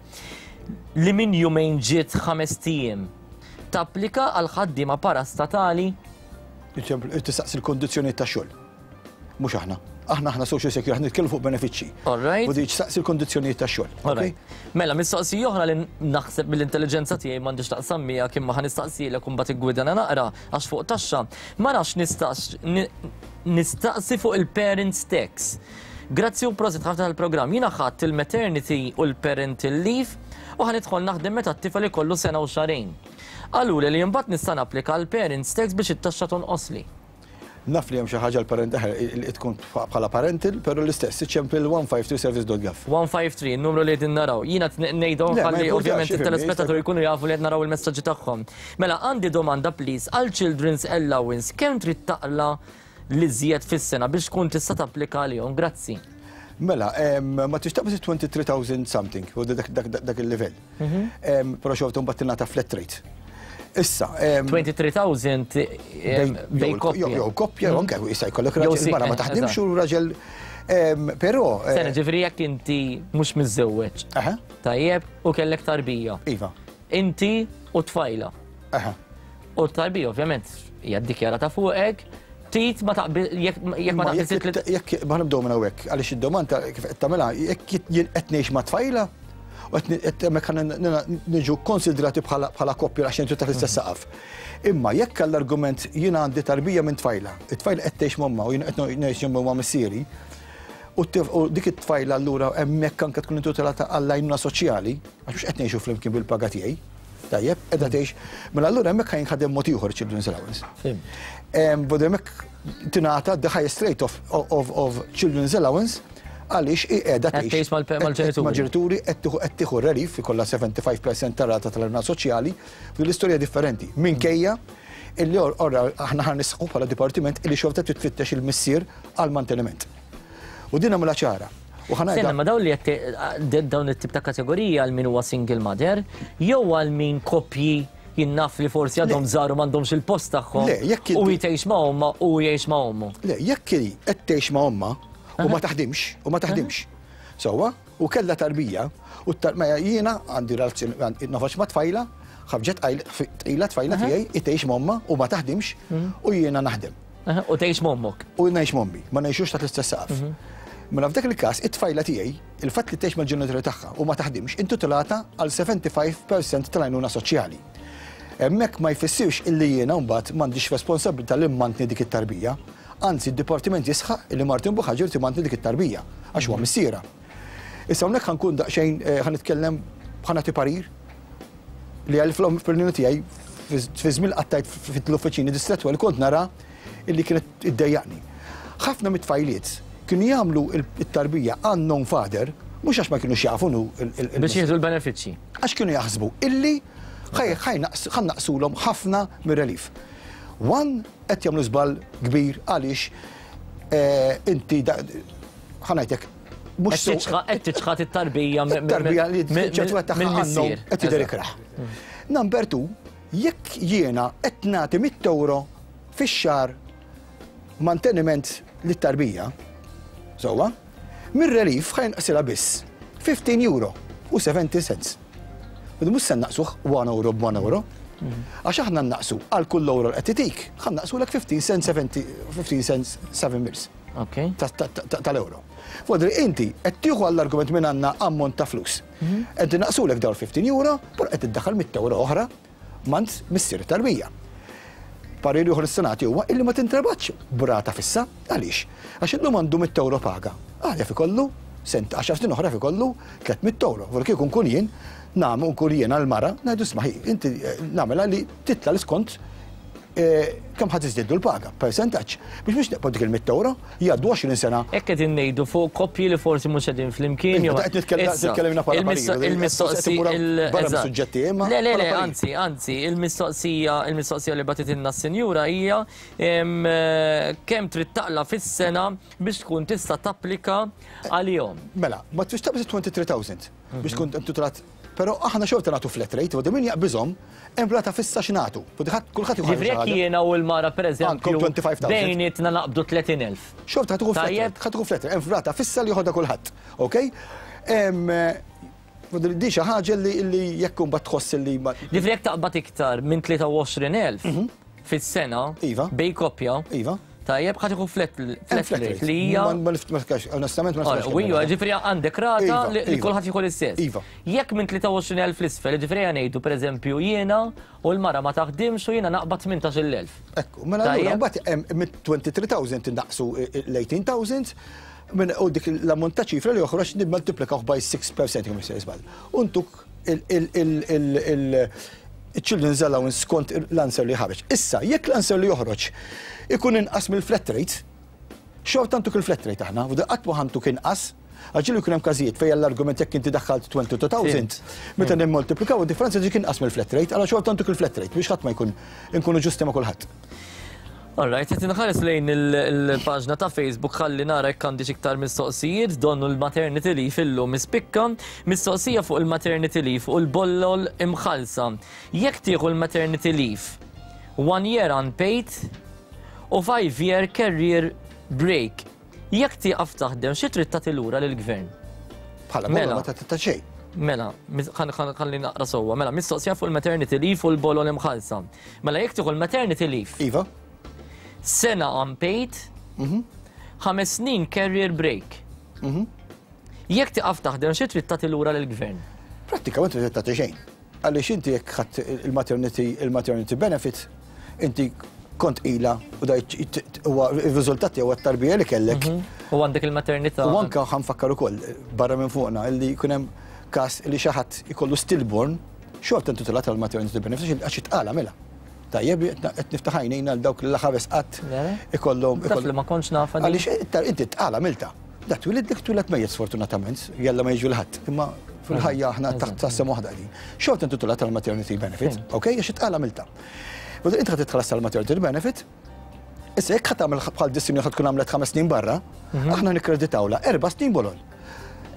Li minn jumejn ġiet ħamest ijiem. Tapplika għal ħaddiema parastatali? Tistaqsi l-kondizzjonijiet tax-xogħol. Mhux aħna. Aħna aħna social security, aħna nitkellmu fuq benefiċċji. All right. U dik saqsi l-kondizzjonijiet tax-xogħol. All right. Mela, mistoqsija oħra li naħseb mill-intelliġenza tiegħi m'għandix taqsam miegħek imma ħa nistaqsilek u mbagħad iggwidana naqra għax fuq taxxa. Ma nafx nistax nistaqsi fuq il-parents tax. Grazzi u prosit ħafna tal-programm. Jiena ħadt il-maternity u l-parental leave u ħa nidħol naħdem meta t-tifel ikollu sena u xahrejn. Qaluli li mbagħad nista' napplika għall-parents tax biex it-taxxa tonqosli. Naf li hemm xi ħaġa l-parent li tkun bħala parental, però l-istess, iċċempel 153service.gov. 153, il-numru li qegħdin naraw. Jiena ngħidhom ħalli ovvjament it-telespettaturi jkunu jafu li qed naraw il-messaġġi tagħhom. Mela għandi domanda please għal children's allowance kemm trid taqla' l-iżjed fis-sena biex tkun tista' tapplika għalihom? Grazzi. Mela, ma tix taqbeż 23,000 something, u dak il-livell. Mhm. Però xorta mbagħad tingħata flat rate. Issa. 23,000 bej koppja. Jew koppja, mhm. anke issa jkollok raġel mara ma taħdimx u raġel. Però. Eh, Sena ġifieri jekk inti mhux miżżewweġ. Tajjeb, u kellek tarbija. Iva. Inti u tfajla. U t-tarbija ovvjament hija ddikjarata fuqek, tit ma taqbil jekk ma taqbil Jekk ma nibdew minn hawnhekk, għaliex id-domanda kif qed tagħmilha, jekk jien qed ngħix ma' tfajla, u qed hemmhekk niġu konsidrati bħala koppja għax intu taħt l-istess saqaf. Imma jekk għall-argument jien għandi tarbija minn tfajla, it-tfajla qed tgħix m'ommha u jien qed ngħix ma' missieri, u dik it-tfajla allura hemmhekk anke tkun intitolata għall-għajnuna soċjali, għax mhux qed ngħixu flimkien bil-paga tiegħi. Tajjeb, qiegħda tgħix. Mela allura hemmhekk ħa jinħadem mod ieħor children's allowance. Bada hemmhekk tingħata the highest rate of, of, of children's allowance għaliex hi qiegħda tgħix mal-ġenituri. Mal-ġenituri qed tieħu relief ikollha 75% tar-rata tal-għajnuna soċjali, u l-istorja differenti. Minkejja illi orra aħna ħan nisħu bħala dipartiment illi xorta titfittex il-missier għal manteniment. U din għamilha ċara. U ħa ngħidha. Ma dawn li qed dawn it-tip ta' kategorija għal min huwa single mother jew għal min koppji jien naf li forsi għadhom żgħar u m'għandhomx il-post tagħhom. Le, jekk u hi tgħix ma' ommha u jgħix ma' ommu. Le, jekk hi qed tgħix ma' ommha u ma taħdimx, u ma taħdimx. Sewwa, u kellha tarbija, u mela jiena għandi relazzjoni noħroġ ma' tfajla, ħarġet tqila tfajla tiegħi, hi tgħix ma' ommha u ma taħdimx u jiena naħdem. U tgħix m'ommok. U ngħix m'ommi, ma ngħixux taħt l-istess saqaf. Mhm. Mela f'dak il-każ, it-tfajla tiegħi, il-fatt li tgħix mal-ġenituri tagħha u ma taħdimx, intitolata għal 75% tal-għajnuna soċjali. Hemmhekk ma jfissirx illi jiena mbagħad m'għandix responsabilità li mmantni dik it-tarbija. Anzi, d-dipartiment jisħaq illi Martin Buhaġir timantni dik it-tarbija għax huwa mhm. missiera. Issa hawnhekk ħankun daqsxejn eh, ħanitkellem ħanati parir li għal fl-opinjoni tiegħi fi żmien qattajt fl-uffiċini distrettwali kont nara illi kienet iddejjaqni. Ħafna mit-tfajliet kienu jagħmlu it-tarbija unknown father mhux għax ma kienux jafu nu Biex jieħdu l-benefiċċji. Għax kienu jaħsbu illi ħa naqsulhom ħafna mir-relief. One qed jagħmlu żball kbir għaliex eh, inti ħa ngħidlek mhux Qed tiċħad it-tarbija tarbija li ċertu tagħha għandhom qed jidher ikrah. Number two, jekk jiena qed nagħti 100 euro fix-xahar manteniment lit-tarbija, sewwa, mir-relief ħa jinqasilha biss 15 euro u 70 cents. U mhux se naqsuh 1 euro b'1 euro. Għax aħna naqsu għal kull euro li qed titik, ħa naqsulek 15 cents 70 15 cents 7 mils tal-euro. Fodri inti qed tieħu għall-argument minn għandna ammont ta' flus. Qed naqsulek dawn 15 euro, però qed iddaħħal 100 euro oħra mant missier tarbija. Parir ieħor is-senati huwa illi ma tintrabatx b'rata fissa. Għaliex? Għax illum għandu 100 euro paga. Għalja fi kollu, sent 10 snin oħra fi kollu 300 euro. Vor kieku nkun jien, nagħmlu nkun jien għal-mara, ngħidu isma' inti nagħmilha li titla l-iskont kemm ħadd iżdiedu l-paga, percentaġġ. Biex mhux neqbod dik il-100 euro, jgħaddu 20 sena. Hekk qegħdin ngħidu fuq koppji li forsi mhux qegħdin flimkien. Iva, qed nitkellimna bħala parir, Il-mistoqsija barra mis-suġġetti, imma Le, le, le, bħala parir. anzi, anzi, il-mistoqsija li bagħtitilna s-sinjura hija kemm trid taqla fis-sena biex tkun tista' tapplika għalihom. Mela, ma tfix taqbeż 23,000 biex tkun intitolat. Però aħna xorta nagħtu flat rate, u min jaqbiżhom hemm rata fissa x'nagħtu. U kulħadd jieħu Ġifieri jekk ħaġa. jiena u l-mara pereżempju Għandkom 25,000. bejnietna naqbdu 30,000. Xorta ħa tieħu flat Tajjeb. rate, ħa tieħu flat rate, hemm rata fissa li joħodha kulħadd. Ok? Di xi ħaġa li jekk imbagħad tħoss li ma Ġifieri jekk taqbad iktar minn 23,000 fis-sena bej koppja. Iva. Tajjeb, ħa tieħu flat Hemm flat rate li hija Ma niftakarx, onestament ma niftakarx. U iva, ġifieri għandek rata li kulħadd jieħu l-istess. Iva. Jekk minn 23,000 l-isfel, ġifieri ngħidu pereżempju jiena u l-mara ma taħdimx u jiena naqbad 18,000. Ekku, mela allura mbagħad hemm mit 23,000 innaqsu l-18,000 minn u dik l-ammont ta' ċifra li joħroġ nimmultiplikaw by 6% jekk mhux se żball. Untuk il-children's allowance skont l-answer li ħareġ. Issa, jekk l-answer li joħroġ ikun inqas mill-flat rate, xorta ntuk il-flat rate aħna, u qatt ma ħantuk inqas, għax ġieli jkun hemm każijiet fejn l-argument jekk inti daħħalt 22,000, meta nimmultiplikaw id-differenza ġik inqas mill-flat rate, għala xorta ntuk il-flat rate biex ħadd ma jkun inkunu ġusti ma' kulħadd. Alright, qed inħares lejn il-paġna ta' Facebook ħalli nara jekk għandi iktar mistoqsijiet, donnu l-maternity leave illum ispikka, mistoqsija fuq il-maternity leave u l-bollol imħallsa. Jekk tieħu l-maternity leave, 1 year unpaid u 5 year career break. Jekk tieqaf taħdem, xi trid tagħti lura lill-gvern? Bħala Mela. bolla ma tagħti xejn. Mela, ħalli naqra sewwa. Mela, mistoqsija fuq il-maternity leave u l-bolol imħallsa. Mela, jekk tieħu l-maternity leave. Iva. Sena unpaid, 5 snin career break. Jekk tieqaf taħdem, xi trid tagħti lura lill-gvern? Prattikament trid tagħti xejn. Għaliex inti jekk ħadd il-maternity benefit, inti kont ila u da huwa ir-riżultati huwa t-tarbija li kellek. U għandek il-maternità. U anka ħa nfakkar ukoll barra minn fuqna illi jkun hemm każ li xi ħadd ikollu stillborn, xorta intitolat għal maternity benefit għax itqala mela. Tajjeb, qed niftaħ għajnejna għal dawk li ħares qatt ikollhom. Taf li ma kontx nafha din. Għaliex inti tqala milta. Da twilid dik twiled mejjet sfortunatament, jalla ma jiġu l-ħadd. Imma fil-ħajja aħna taħt tassem waħda din. Xorta intitolat għal maternity benefit, ok? Għax itqala milta. Bada inti ħad titħallas għal maternity benefit, issa jekk ħa tagħmel bħal dis-sinjura ħad tkun għamlet 5 snin barra, aħna nikkreditawla 4 snin bolol.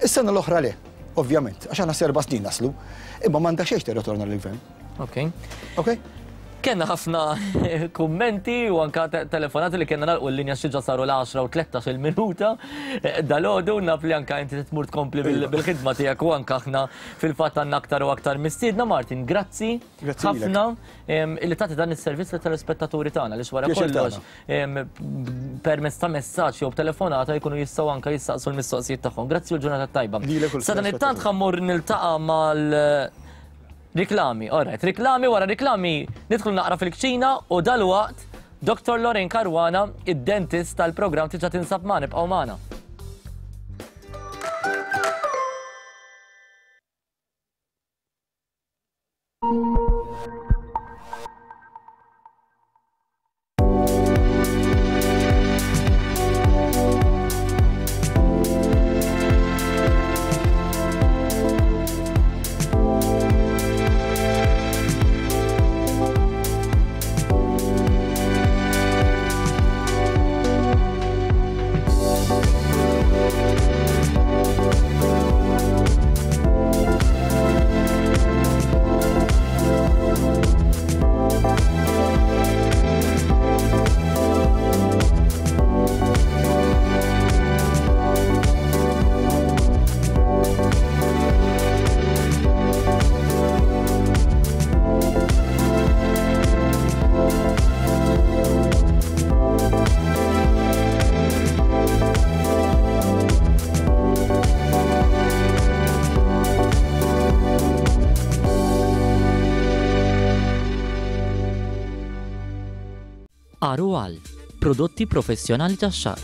Is-sena l-oħra le, ovvjament, għax aħna 4 snin naslu, imma m'għandha xejn tirritorna lill-gvern. Ok. Ok? Kenna ħafna kummenti u anka telefonati li kellna nagħlqu l-linja xi ġa saru l-10 u 13 minuta. Dalgħodu naf li anka inti tmur tkompli bil-ħidma tiegħek u anka aħna fil-fatt għandna aktar u aktar mistiedna. Martin, grazzi Grazzi lilek. ħafna li tagħti dan is-servizz lit-telespettaturi tagħna li wara Pjaċir kollox, tagħna. permezz ta' messaġġ jew telefonata jkunu jistgħu anka jistaqsu l-mistoqsijiet tagħhom. Grazzi u l-ġurnata tajba. Lilek u Sa dan it-tant l-telespettaturi. ħa mmur niltaqa' mal riklami, all right, riklami wara riklami nidħlu naqra fil-kċina u dalwaqt Dr. Lorraine Caruana, id-dentist tal-programm tiġa tinsab magħna, ibqgħu magħna. Arual, prodotti professjonali tax-xagħar.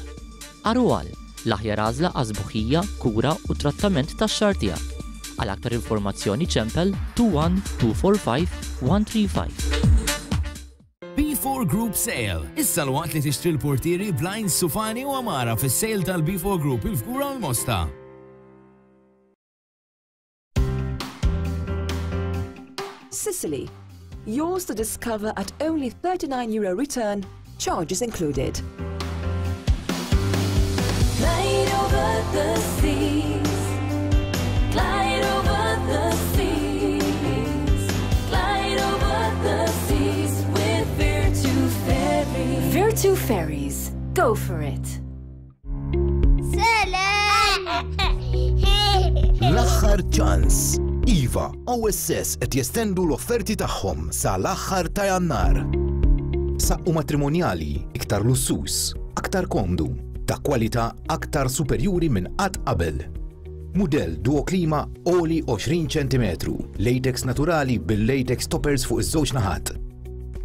Arual, l-aħjar għażla għas-sbuħija, kura u trattament tax-xagħar tiegħek. Għal aktar informazzjoni ċempel 21 245 135. B4 Group Sale. Issa l-waqt li tixtri l-portieri, blinds, sufani u għamara fis-sale tal-B4 Group il-Fgura u l-Mosta. Sicily. Yours to discover at only 39 euro return, charges included. Glide over the seas. Glide over the seas. Glide over the seas with Virtu Ferries. Virtu Ferries. Go for it. L-aħħar ċans. Iva, OSS qed jestendu l-offerti tagħhom sa l-aħħar ta' Jannar. Saqqu matrimonjali iktar lussus, aktar komdu, ta' kwalità aktar superjuri minn qatt qabel. Mudell Duo Klima għoli 20 ċentimetru, latex naturali bil-latex toppers fuq iż-żewġ naħat.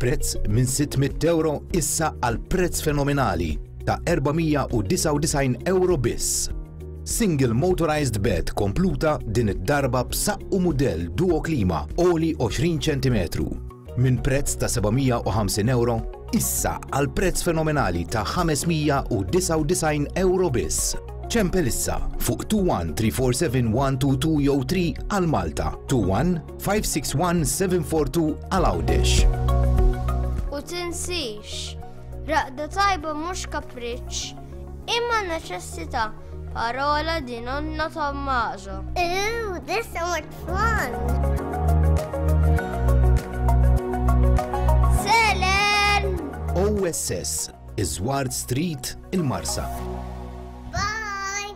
Prezz minn 600 euro issa għal prezz fenomenali ta' 499 euro biss. Single motorized bed kompluta din id-darba b'saqqu mudell Duo Klima għoli 20 ċentimetru. Minn prezz ta' 750 euro issa għal prezz fenomenali ta' 599 euro biss. Ċempel issa fuq 21 347 122 jew 3 għal Malta, 21 561 742 għal Għawdex. U tinsix, raqda tajba mhux kapriċċ, imma neċessità. Parola di nonno Tommaso. Ooh, this so much fun! Selen! OSS, Iż-Żward Street, il-Marsa. Bye!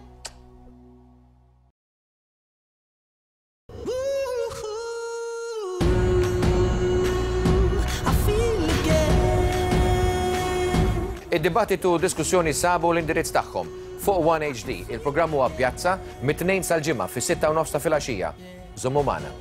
Id-dibattitu u diskussjoni sabu l-indirizz tagħhom fuq One HD. Il-programm huwa Pjazza mit-Tnejn sal-Ġimgħa fis-sitta u nofs ta' filgħaxija. Żommu magħna.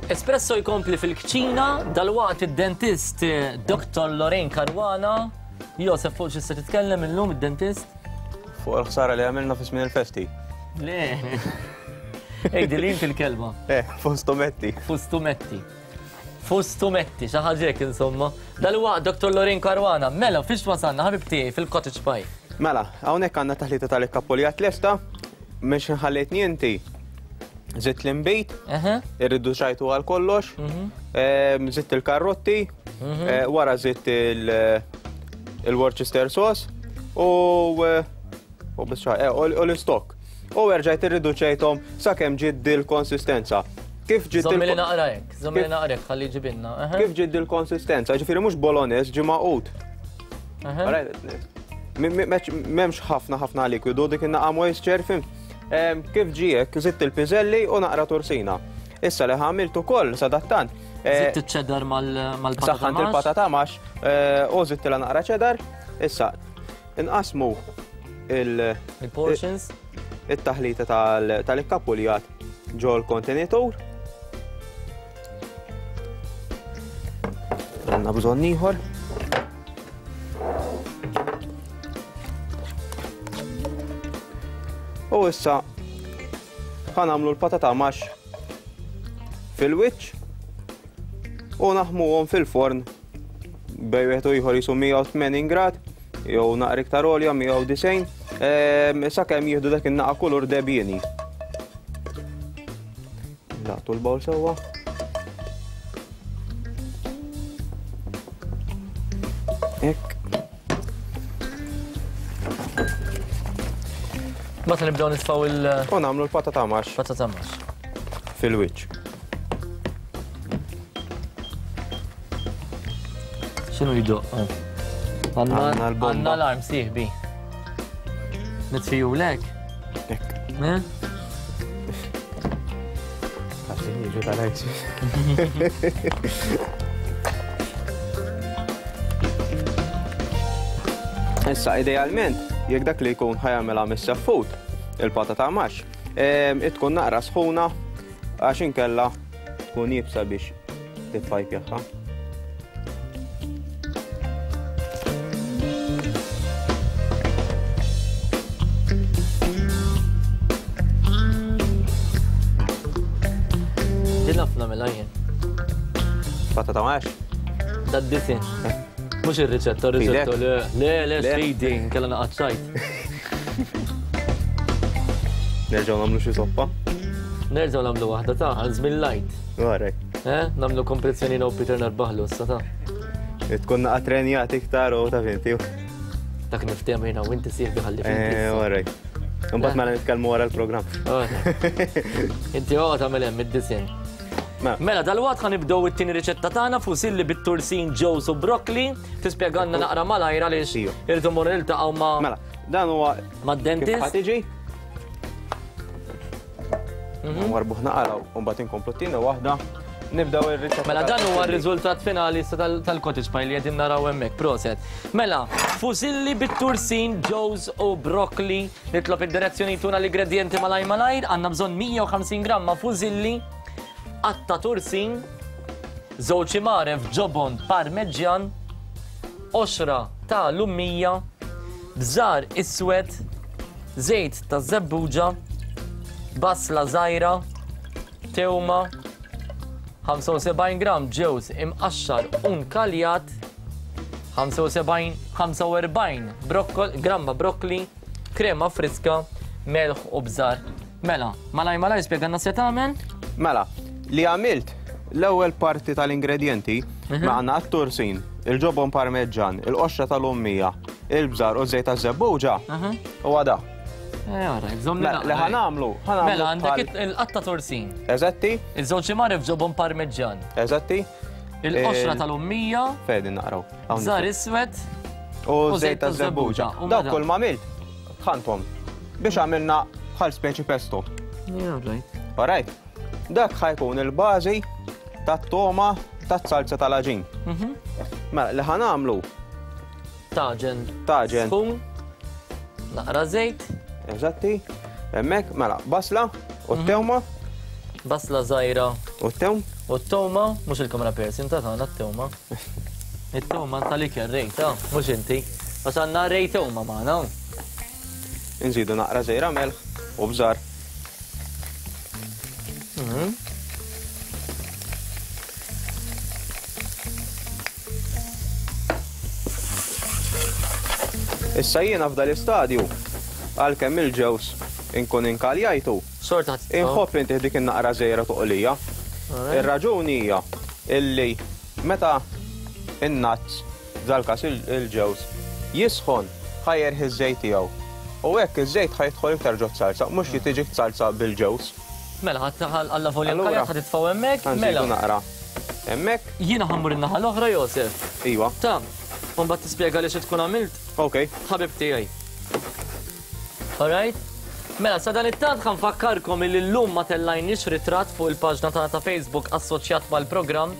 Espresso jkompli fil-kċina, dal-waqt id-dentist eh, Dr. Lorraine Caruana. Josef, fuq xi se titkellem illum id-dentist? Fuq il-ħsara li għamilna fi żmien il-festi. Le. Ejdi li inti l-kelma. Eh, fustumetti. Fustumetti. Fustumetti, xi ħaġa hekk insomma. Dalwaqt Dr. Lorin Caruana, mela fiex wasalna ħabib tiegħi fil-cottage pie. Mela, hawnhekk għandna taħlita tal-ikkapuljat lesta, mhux nħallejtni inti. Zitt l-inbid, irriduċajtu għal kollox, mhm. ehm, zitt il-karrotti, mhm. eh, wara zitt il-Worcester sauce u eh, U biss eh, u l-istok. U erġajt irriduċejthom sakemm ġiet dil-konsistenza. Kif ġiet Żommi li naqra hekk, żommi li naqra hekk ħalli ġibinna. Kif ġiet dil-konsistenza, ġifieri mhux bolognese ġi maqut. M'hemmx ħafna ħafna likwidu dik in-naqa moisture fim. Kif ġie hekk, żidt il-piżelli u naqra tursina. Issa li ħamilt ukoll sadattant. Eh, zitt iċ-ċedar mal-patata. Saħħant il-patata max eh, u zittilha naqra ċedar. Issa, Inqassmu il- Il-portions. It-taħlita tal-ikkapuljat ġol kontenitur. Għandna bżonn ieħor. U issa ħanamlu l-patata max fil-wiċċ u naħmuhom fil-forn bej wieħed u ieħor jisu 180 grad jew naqra iktar għolja 190 ehm, sakemm jieħdu dak in-naqa kulur debjieni. Laqtu l-bawl sewwa. Hekk. Meta nibdew nitfgħu il- U nagħmlu l-patata max. Patata max. Fil-wiċċ. X'inhu jdoq? Għandna l-bomba. Għandna l-arm sieħbi. Nitfiju lek? Ek. Eh? tarajt. Issa, idealment, jekk dak li jkun ħajamela mis-seffut, il-patata max, tkun naqra sħuna għax inkella tkun jibsa biex titfajpjaħħa. Din naf nagħmilha jien. Patata max? Dad-disin. Mhux ir-riċetta, ir-riċetta le, le, le, sfidi, nkella naqgħod xajt. Nerġgħu nagħmlu xi soppa? Nerġgħu nagħmlu waħda ta' għal żmien lajt. Għarek. Eh, nagħmlu kompetizzjoni u Peter narbaħlu issa ta' Tkun naqa' trenjat iktar u ta' finti. Dak niftehom jiena u inti sieħbi ħalli. Eh, għarek. Imbagħad mela nitkellmu wara l-programm. Inti oqgħod tagħmel hemm id-disin. Mela, mela dal-waqt ħa nibdew it-tieni riċetta tagħna fusilli bit-tursin ġews u brokkli. Tispjegalna naqra malajr għaliex irridu mmorru niltaqgħu ma' Mela, dan huwa mad-dentist. Kif tiġi? Mhm. Warbuh naqra u mbagħad inkomplu t-tieni waħda. Nibdew ir-riċetta. Mela dan huwa r-riżultat finali tal-cottage pie li qegħdin naraw hemmhekk. Proset. Mela, fusilli bit-tursin, ġewż u brokkli. Nitlob id-direzzjoni tuna l-ingredjenti malaj malajr. Għandna bżonn 150 gramma fusilli, qatta tursin, żewġ imaref ġobon parmeġġjan, qoxra ta' lummija, bżar iswed, żejt ta' żebbuġa, basla żgħira, tewma, 75 gramm ġewż imqaxxar u nkaljat, 75 45 brokkol, gramma brokkli, krema friska, melħ u bżar. Mela, malaj malaj spjegalna se tagħmel? Mela, li għamilt l-ewwel parti tal-ingredjenti mhm. ma għandna t-tursin, il-ġobon parmeġġan, il-qoxra tal-ummija, il-bżar u żejt taż-żebbuġa mhm. u għada. Eh, mela, li ħanamlu, ħanamlu. Mela, għandek il-qatta tursin. Eżatti. Il-żewġ imar ġobon parmeġġan. Eżatti. Il-qoxra tal-ummija. Fedin naqraw. Bżar iswed. U żejt taż-żebbuġa. Dawk kull ma għamilt, tħanthom biex għamilna bħal speċi pesto. Yeah, right. Alright. Dak ħajkun il-bażi tat-toma tat-salza tal-aġin. Mhm. Mela, li ħanamlu. Taġen. Taġen. Sħun. Naqra żejt. Eżatti. Hemmhekk, mela, basla u mhm. t-tewma. Basla żgħira. U t-tewm. U t-tewma, mhux il-kamera person ta' tagħna t-tewma. It-tewma tal-ikel rejta, mhux inti. Għax għandna rej tewma magħna. Inżidu naqra żejra melħ u bżar. Mhm. Issa jiena f'dal istadju għalkemm il-ġewż inkun inkaljajtu. Xorta Inħobb intih dik in-naqra żejra toqlija. Ir-raġuni hija illi meta in-nuts f'dal-każ il-ġewż, jisħon, ħa jerħi ż-żejt tiegħu. U hekk iż-żejt ħa jidħol iktar ġot-salsa, mhux li tiġik salsa bil-ġewż. Mela, ħa allavolja nkaljat ħa titfgħu hemmhekk, mela. Ħa nżidu naqra hemmhekk. Jiena ħa mmur in-naħa l-oħra, Josef. Iva. Ta, u mbagħad tispjegali xi tkun għamilt. Ok. Ħabib tiegħi. All right? Mela, sadanittant ħa nfakkarkom illi llum ma tellajniex ritratt fuq il-paġna tagħna ta' Facebook assoċjat mal-programm.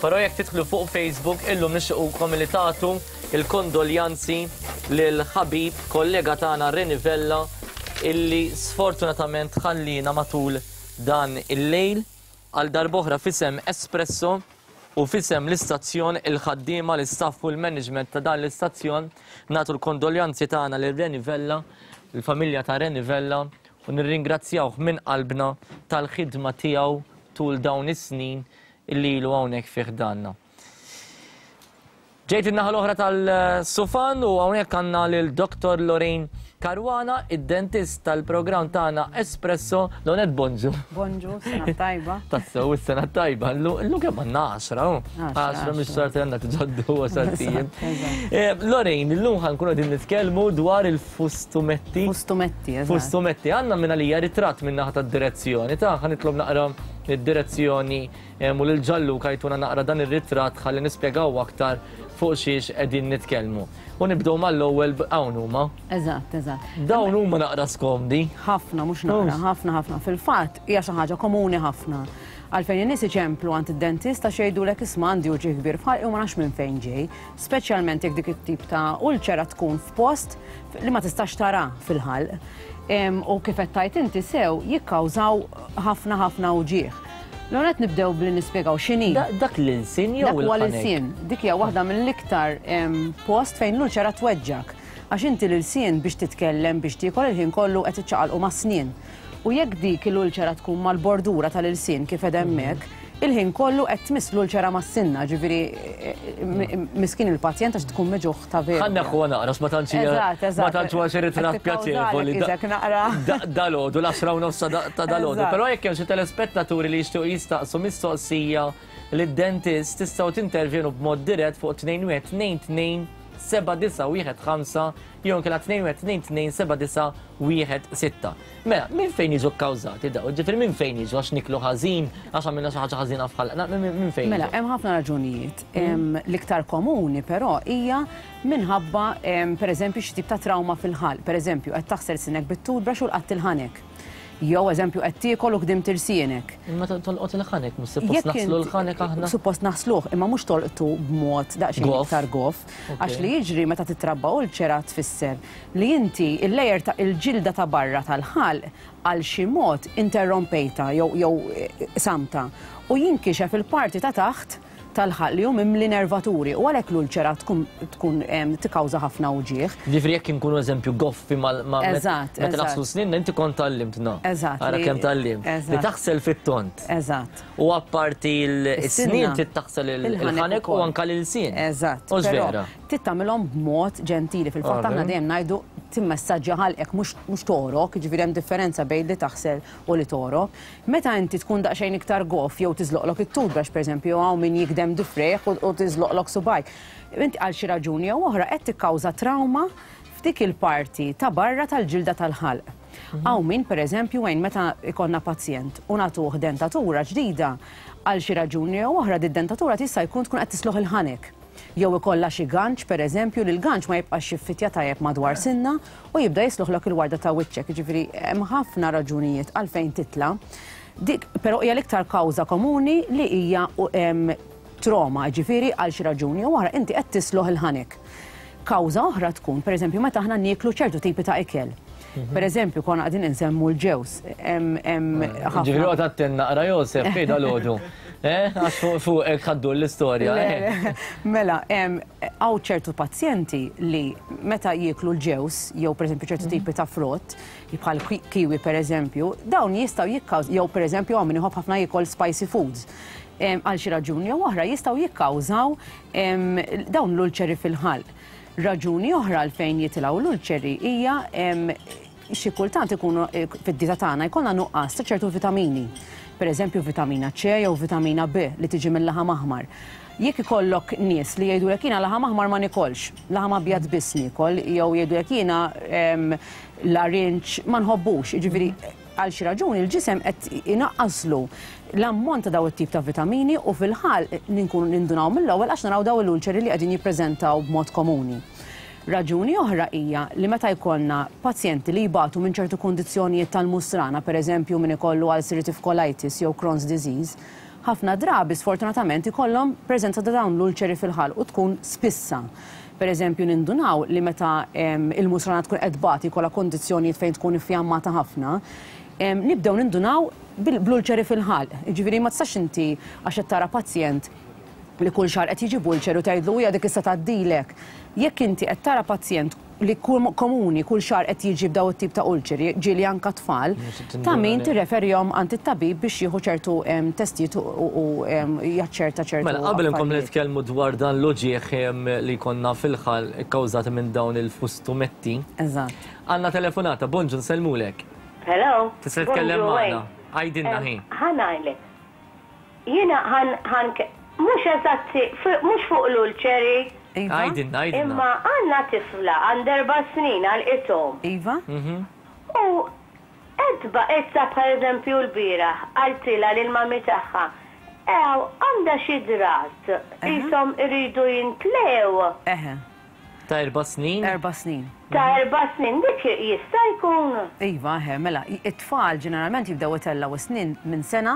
Però jekk tidħlu fuq Facebook illum nixtiqukom li tagħtu l-kondoljanzi lil ħabib kollega tagħna Reni Vella illi sfortunatament ħalliena matul dan il-lejl. Għal darb'oħra f'isem Espresso u f'isem l-istazzjon, il-ħaddiema, l-istaff u l-management ta' dan l-istazzjon nagħtu l-kondoljanzi tagħna lil Reni Vella, l-familja ta' Reni Vella u nirringrazzjawh minn qalbna tal-ħidma tiegħu tul dawn is-snin illi ilu hawnhekk fi ħdanna. Ġejt in-naħa l-oħra tal-sufan u hawnhekk għandna lil Dr. Lorraine Caruana, id-dentist tal-programm tagħna Espresso. Lonet bonġu. Bonġu, sena tajba. Tassew, is-sena tajba. Illum kemm għandna 10, oh? 10 mix-xahar għandna tiġaddu għaxar ijiem. Eh, Lorraine, illum ħankunu qegħdin nitkellmu dwar il-fustumetti. Fustumetti, eżatt. Fustumetti, għandna minn għalija ritratt minn naħa tad-direzzjoni ta' ħanitlob naqra id-direzzjoni u lil Gianluca jtuna naqra dan ir-ritratt ħalli nispjegaw aktar fuq xiex qegħdin nitkellmu. U nibdew mal-ewwel hawn huma. Eżatt, eżatt. Dawn huma naqra skomdi. Ħafna, mhux naqra, ħafna ħafna. Fil-fatt hija xi ħaġa komuni ħafna. Għalfejn in-nies iċemplu għand id-dentist għax jgħidulek isma' għandi uġigħ kbir f'ħalqi u ma nafx minn fejn ġej, speċjalment jekk dik it-tip ta' ulċera tkun f'post li ma tistax tara fil-ħalq. U kif qed tgħid inti sew jikkawżaw ħafna ħafna uġigħ. L-ewwel nett nibdew billi nispjegaw x'inhi. Dak l-ilsien jew Dak huwa l-ilsien. Dik hija waħda mill-iktar post fejn l-ulċera tweġġgħek. Għax inti l-ilsien biex titkellem, biex tiekol il-ħin kollu qed iċċaqalqu mas-snien. U jekk dik il-ulċera tkun mal-bordura tal-ilsien kif qed hemmhekk, il-ħin kollu qed tmiss l-ulċera mas-sinna, ġifieri miskin il-pazjent għax tkun miġugħ ta' veru. Ħa nneħħuha naqra għax ma tantx hija ma tantx huwa xi ritratt pjaċevoli. Dalgħodu l-għaxra u nofs ta' dalgħodu. Però jekk hemm xi telespettaturi li jixtiequ jistaqsu mistoqsija lid-dentist tistgħu tintervjenu b'mod dirett fuq 21 22 7915 jew inkella 21 22 7916. Mela, minn fejn jiġu kkawżati dawn? Ġifieri minn fejn jiġu għax niklu ħażin, għax għamilna xi ħaġa ħażina f'ħalqna, minn fejn? Mela, hemm ħafna raġunijiet. L-iktar komuni però hija minħabba pereżempju xi tip ta' trawma fil-ħalq. Pereżempju, qed taħsel sinek bit-toothbrush u lqatt il-ħanek. Jew eżempju qed tiekol u kdimt irsienek. Imma tolqot il-ħanek, mhux suppost naħslu l-ħanek aħna? Suppost naħsluh, imma mhux tolqtu b'mod daqsxejn iktar goff. Għax li jiġri meta titrabba ulċera tfisser li inti il-layer ta' il-ġilda ta' barra tal-ħalq għal xi mod interrompejtha jew jew qsamtha u jinkixef il-parti ta' taħt tal-ħalq li hu mimli nervaturi u għalhekk l-ulċera tkun tkun tikkawża ħafna uġigħ. Jiġifieri jekk inkunu eżempju goffi mal ma' Eżatt, meta naħslu sninna inti kont tgħallimtna. Eżatt. Ara kemm tgħallimt. Li taħsel fit-tond. Eżatt. U apparti l-snien trid taħsel il-ħanek u anke l-ilsien. Eżatt. Hux vera? Trid tagħmilhom b'mod ġentili. Fil-fatt aħna dejjem ngħidu timmessaġġja ħalqek mhux togħrok, jiġifieri hemm differenza bejn li taħsel u li togħrok. Meta inti tkun daqsxejn iktar goff jew tiżloqlok it-toothbrush pereżempju, jew hawn min jikdem difrejh u tiżloqlok subgħajk, inti għal xi raġuni jew oħra qed tikkawża trawma f'dik il-parti ta' barra tal-ġilda tal-ħalq. Hawn min pereżempju Wayne meta jkollna pazjent u nagħtuh dentatura ġdida, għal xi raġuni jew oħra did-dentatura tista' jkun tkun qed tisloħ il-ħanek. Jew ikollha xi ganċ pereżempju li l-ganċ ma jibqax jiffittja tajjeb madwar sinna u jibda jisluħlok il-warda ta' wiċċek. Jiġifieri hemm ħafna raġunijiet għalfejn titla'. Dik però hija l-iktar kawża komuni li hija trauma, jiġifieri għal xi raġuni jew oħra inti qed tisloħ il-ħanek. Kawża oħra tkun, pereżempju, meta aħna nieklu ċertu tipi ta' ikel. Pereżempju, konna qegħdin insemmu l-ġewż. Ġifieri oqgħod attent naqra Josef, fej dalgħodu. Eh, għax fuqek ħaddu l-istorja. Eh. Mela, hawn ċertu pazjenti li meta jieklu l-ġewż jew pereżempju ċertu mhm. tipi ta' frott, bħal kiwi pereżempju, dawn jistgħu jikkawż jew pereżempju hawn min iħobb ħafna jiekol spicy foods għal xi raġuni jew oħra jistgħu jikkawżaw dawn l-ulċeri fil-ħalq. Raġuni oħra għalfejn jitilgħu l-ulċeri hija xi kultant ikunu fid-dieta tagħna jkollna nuqqas ta' ċertu vitamini. Per eżempju vitamina C jew vitamina B li tiġi mill-laħam aħmar. Jekk ikollok nies li jgħidulek jiena laħam aħmar ma nikolx, laħam abjad biss niekol, jew jgħidulek jiena larinġ ma nħobbux, jiġifieri għal xi raġuni l-ġisem qed inaqqaslu l-ammont ta' daw it-tip ta' vitamini u fil-ħalq ninkunu nindunaw mill-ewwel għax naraw daw l-ulċeri li qegħdin jippreżentaw b'mod komuni. Raġuni oħra hija li meta jkollna pazjenti li jbatu minn ċertu kundizzjonijiet tal-musrana, pereżempju min ikollu ulcerative colitis jew Crohn's disease, ħafna drabi sfortunatament ikollhom preżenza ta' dawn l-ulċeri fil-ħalq u tkun spissa. Pereżempju nindunaw li meta il-musrana tkun qed tbati jkollha kundizzjonijiet fejn tkun iffjammata ħafna, nibdew nindunaw bl-ulċeri fil-ħalq. Jiġifieri ma tistax inti għax qed tara pazjent li kull xahar qed jiġi b'ulċer u tgħidlu hija dik issa tgħaddilek. Jekk inti qed tara pazjent li komuni kull xahar qed jiġi b'daw it-tip ta' ulċeri, ġieli anka tfal, ta' min tirreferihom għand it-tabib biex jieħu ċertu testijiet u jaċċerta ċertu. Mela, qabel inkomplu nitkellmu dwar dan l-uġigħ li jkollna fil-ħalq ikkawżati minn dawn il-fustumetti. Eżatt. Għandna telefonata, bonġu nsellmulek. Hello. Tista' titkellem magħna. Għidilna ħin. Ħa ngħidlek. Jiena ħan ħan mhux eżatti mhux fuq l-ulċeri. Iva. Għidilna, għidilna. Imma għandna tifla għandha erba' snin għalqithom. Iva. U qed issa bħal eżempju l-bieraħ qaltilha lill-mummy tagħha, Ew għandha xi drat qishom iridu jintlew. Eħe. Ta' erba' snin? Erba' snin. Ta' erba' snin, dik jista' jkun? Iva, eħe, mela, it-tfal ġeneralment jibdew itellgħu s-snien minn sena.